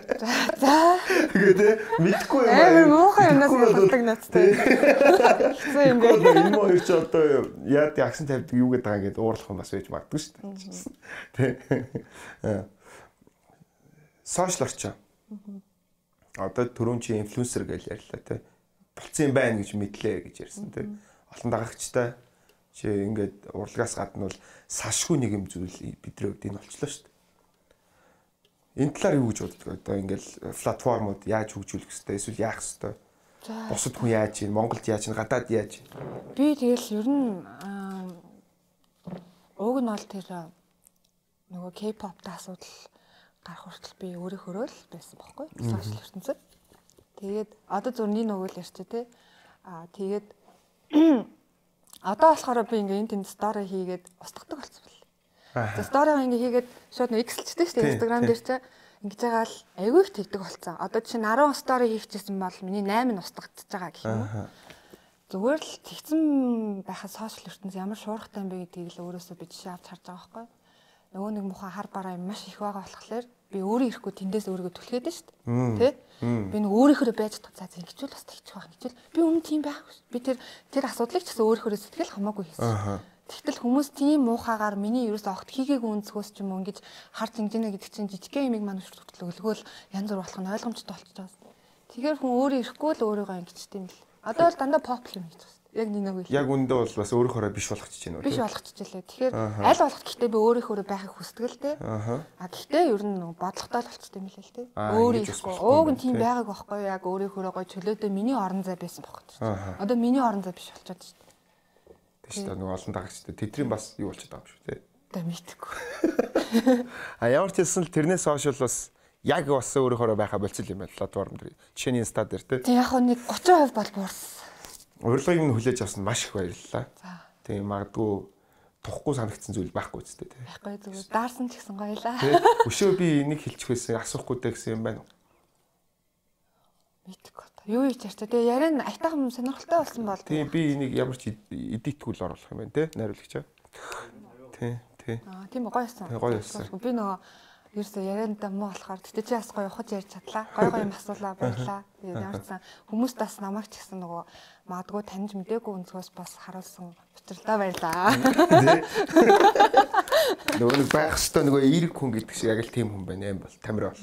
За. Тэгээд мэдхгүй юм аа. Амар муухай юмнаас ялгардаг надтай. Хэцүү юм бэ. Энэ мөр ч одоо яад агсан тавьдаг юу гэдэг байгаа ингээд уурлах юм бас байж магадгүй шүү дээ. Тэ. Сошиал орчин. Одоо түрүүн чи инфлюенсер гэж ярьлаа те. Болцсон юм байна гэж мэдлээ гэж ярьсан те. Олон дагагчтай чи ингээд урлагаас гадна бол салшгүй нэг юм зүйл бидний хувьд энэ болчлоо шүү дээ. Энэ талаар юу гэж боддог? Одоо ингээд платформуд яаж хөгжүүлэх хэвтэй эсвэл яах хэвтэй? Бусад хүн яаж ийн, Монголд яаж ийн, гадаад яаж ийн? Би тэгэл ер нь уг нь бол тэр нөгөө K-pop-тай асуудал гарах хүртэл би өөрийнхөө л байсан байхгүй сошиал ертөнцид. Тэгээд одоо зүрний нөгөө л ярьчих тий. Аа тэгээд одоо болохоор би ингээ энэ тэнд стори хийгээд устгадаг болсон бэл. За сторигаа ингээ хийгээд шууд нэг X-лчтэй шүү дээ Instagram дээр чи ингэж байгаа л айгүй их тэгдэг болсон. Одоо чинь арван стори хийчихсэн бол миний восемь нь устгагдчихж байгаа гэх юм уу. Зүгээр л тэгсэн байхад сошиал ертөнц ямар шуурхтай юм бэ гэдгийг л өөрөөсөө би жишээ авч харж байгаа байхгүй. Нөгөө нэг муухай хар бараа юм маш их байгаа болохоор би өөрөө ирэхгүй тэндээс өөрийгөө түлхээд шүү дээ. Тэ? Би нэг өөрийнхөө байж чадах за ингэчүүл бас тэгчих байх гэвэл би өмнө тийм байхгүй. Би тэр тэр асуудлыг ч гэсэн өөрийнхөө сэтгэл хамаагүй хийсэн. Тэгтэл хүмүүс тийм муухагаар миний ерөөс огт хийгээгүй өнцгөөс ч юм уу ингэж хар зинжинэ гэдэг чинь жижигхэн юмыг манайш хөтлөгөөл янз бүр болох нь ойлгомжтой болчихж байгаа. Тэгэхээр хүн өөрөө ирэхгүй л өөрийгөө ингэчтэй юм л. Одоо бол дандаа pop юм хийж байна. Яг нэг нэг. Яг үндэ бол бас өөрийнхөө биш болгочихж байна үү? Биш болгочихжээ. Тэгэхээр аль болох гэхдээ би өөрийнхөө байхыг хүсдэг л дээ. А гэхдээ ер нь бодлоготой л болчихсон юм лээ л дээ. Өөрийнхөө ууг нь тийм байгааг байхгүй яг өөрийнхөө гой чөлөөтэй миний орон зай байсан байхгүй. Одоо миний орон зай биш болчиход шүү дээ. Тэш та нэг олон дагагчтай тэдрийн бас юу болчиход байгаа юм шүү дээ. Тэ мэдхгүй. А ямар ч хэлсэн л тэрнээс хойш бас яг бас өөрийнхөө байхаа болцсон юм байна платформ дээр. Жишээний инста дээр те. Тэг яг нэг тридцать процент бол буурсан. Урилгыг нь хүлээж авсан маш их баярлалаа. За. Тийм магадгүй тухгүй санагдсан зүйл байхгүй үстэй тий. Байхгүй зүгээр даарсан ч гэсэн гоёлаа. Өшөө би энийг хэлчих байсан асуухгүй даа гэсэн юм байна уу? Мэдгүй. Юу хийж ярьчаа. Тэгээ яриан айтайхан сонирхолтой болсон бол. Тийм би энийг ямар ч эдитгүүл оруулах юм байна тий. Найруулагчаа. Тий, тий. Аа тийм гоё байсан. Гоё байсан. Би нөгөө ерөөсөө яриандаа муу болохоор тэгтээ чи бас гоё ухаж ярьж чадлаа. Гоё гоё юм асуулаа баярлаа. Тэгээд ямар ч сан хүмүүс бас намайг ч гэсэн нөгөө магадгүй таньж мдээгүй өнцгөөс бас харуулсан учирлаа баярлаа. Нөгөө нэг байх хэвээр нөгөө эерэг хүн гэдэг шиг яг л тийм хүн байна юм бол Тамир бол.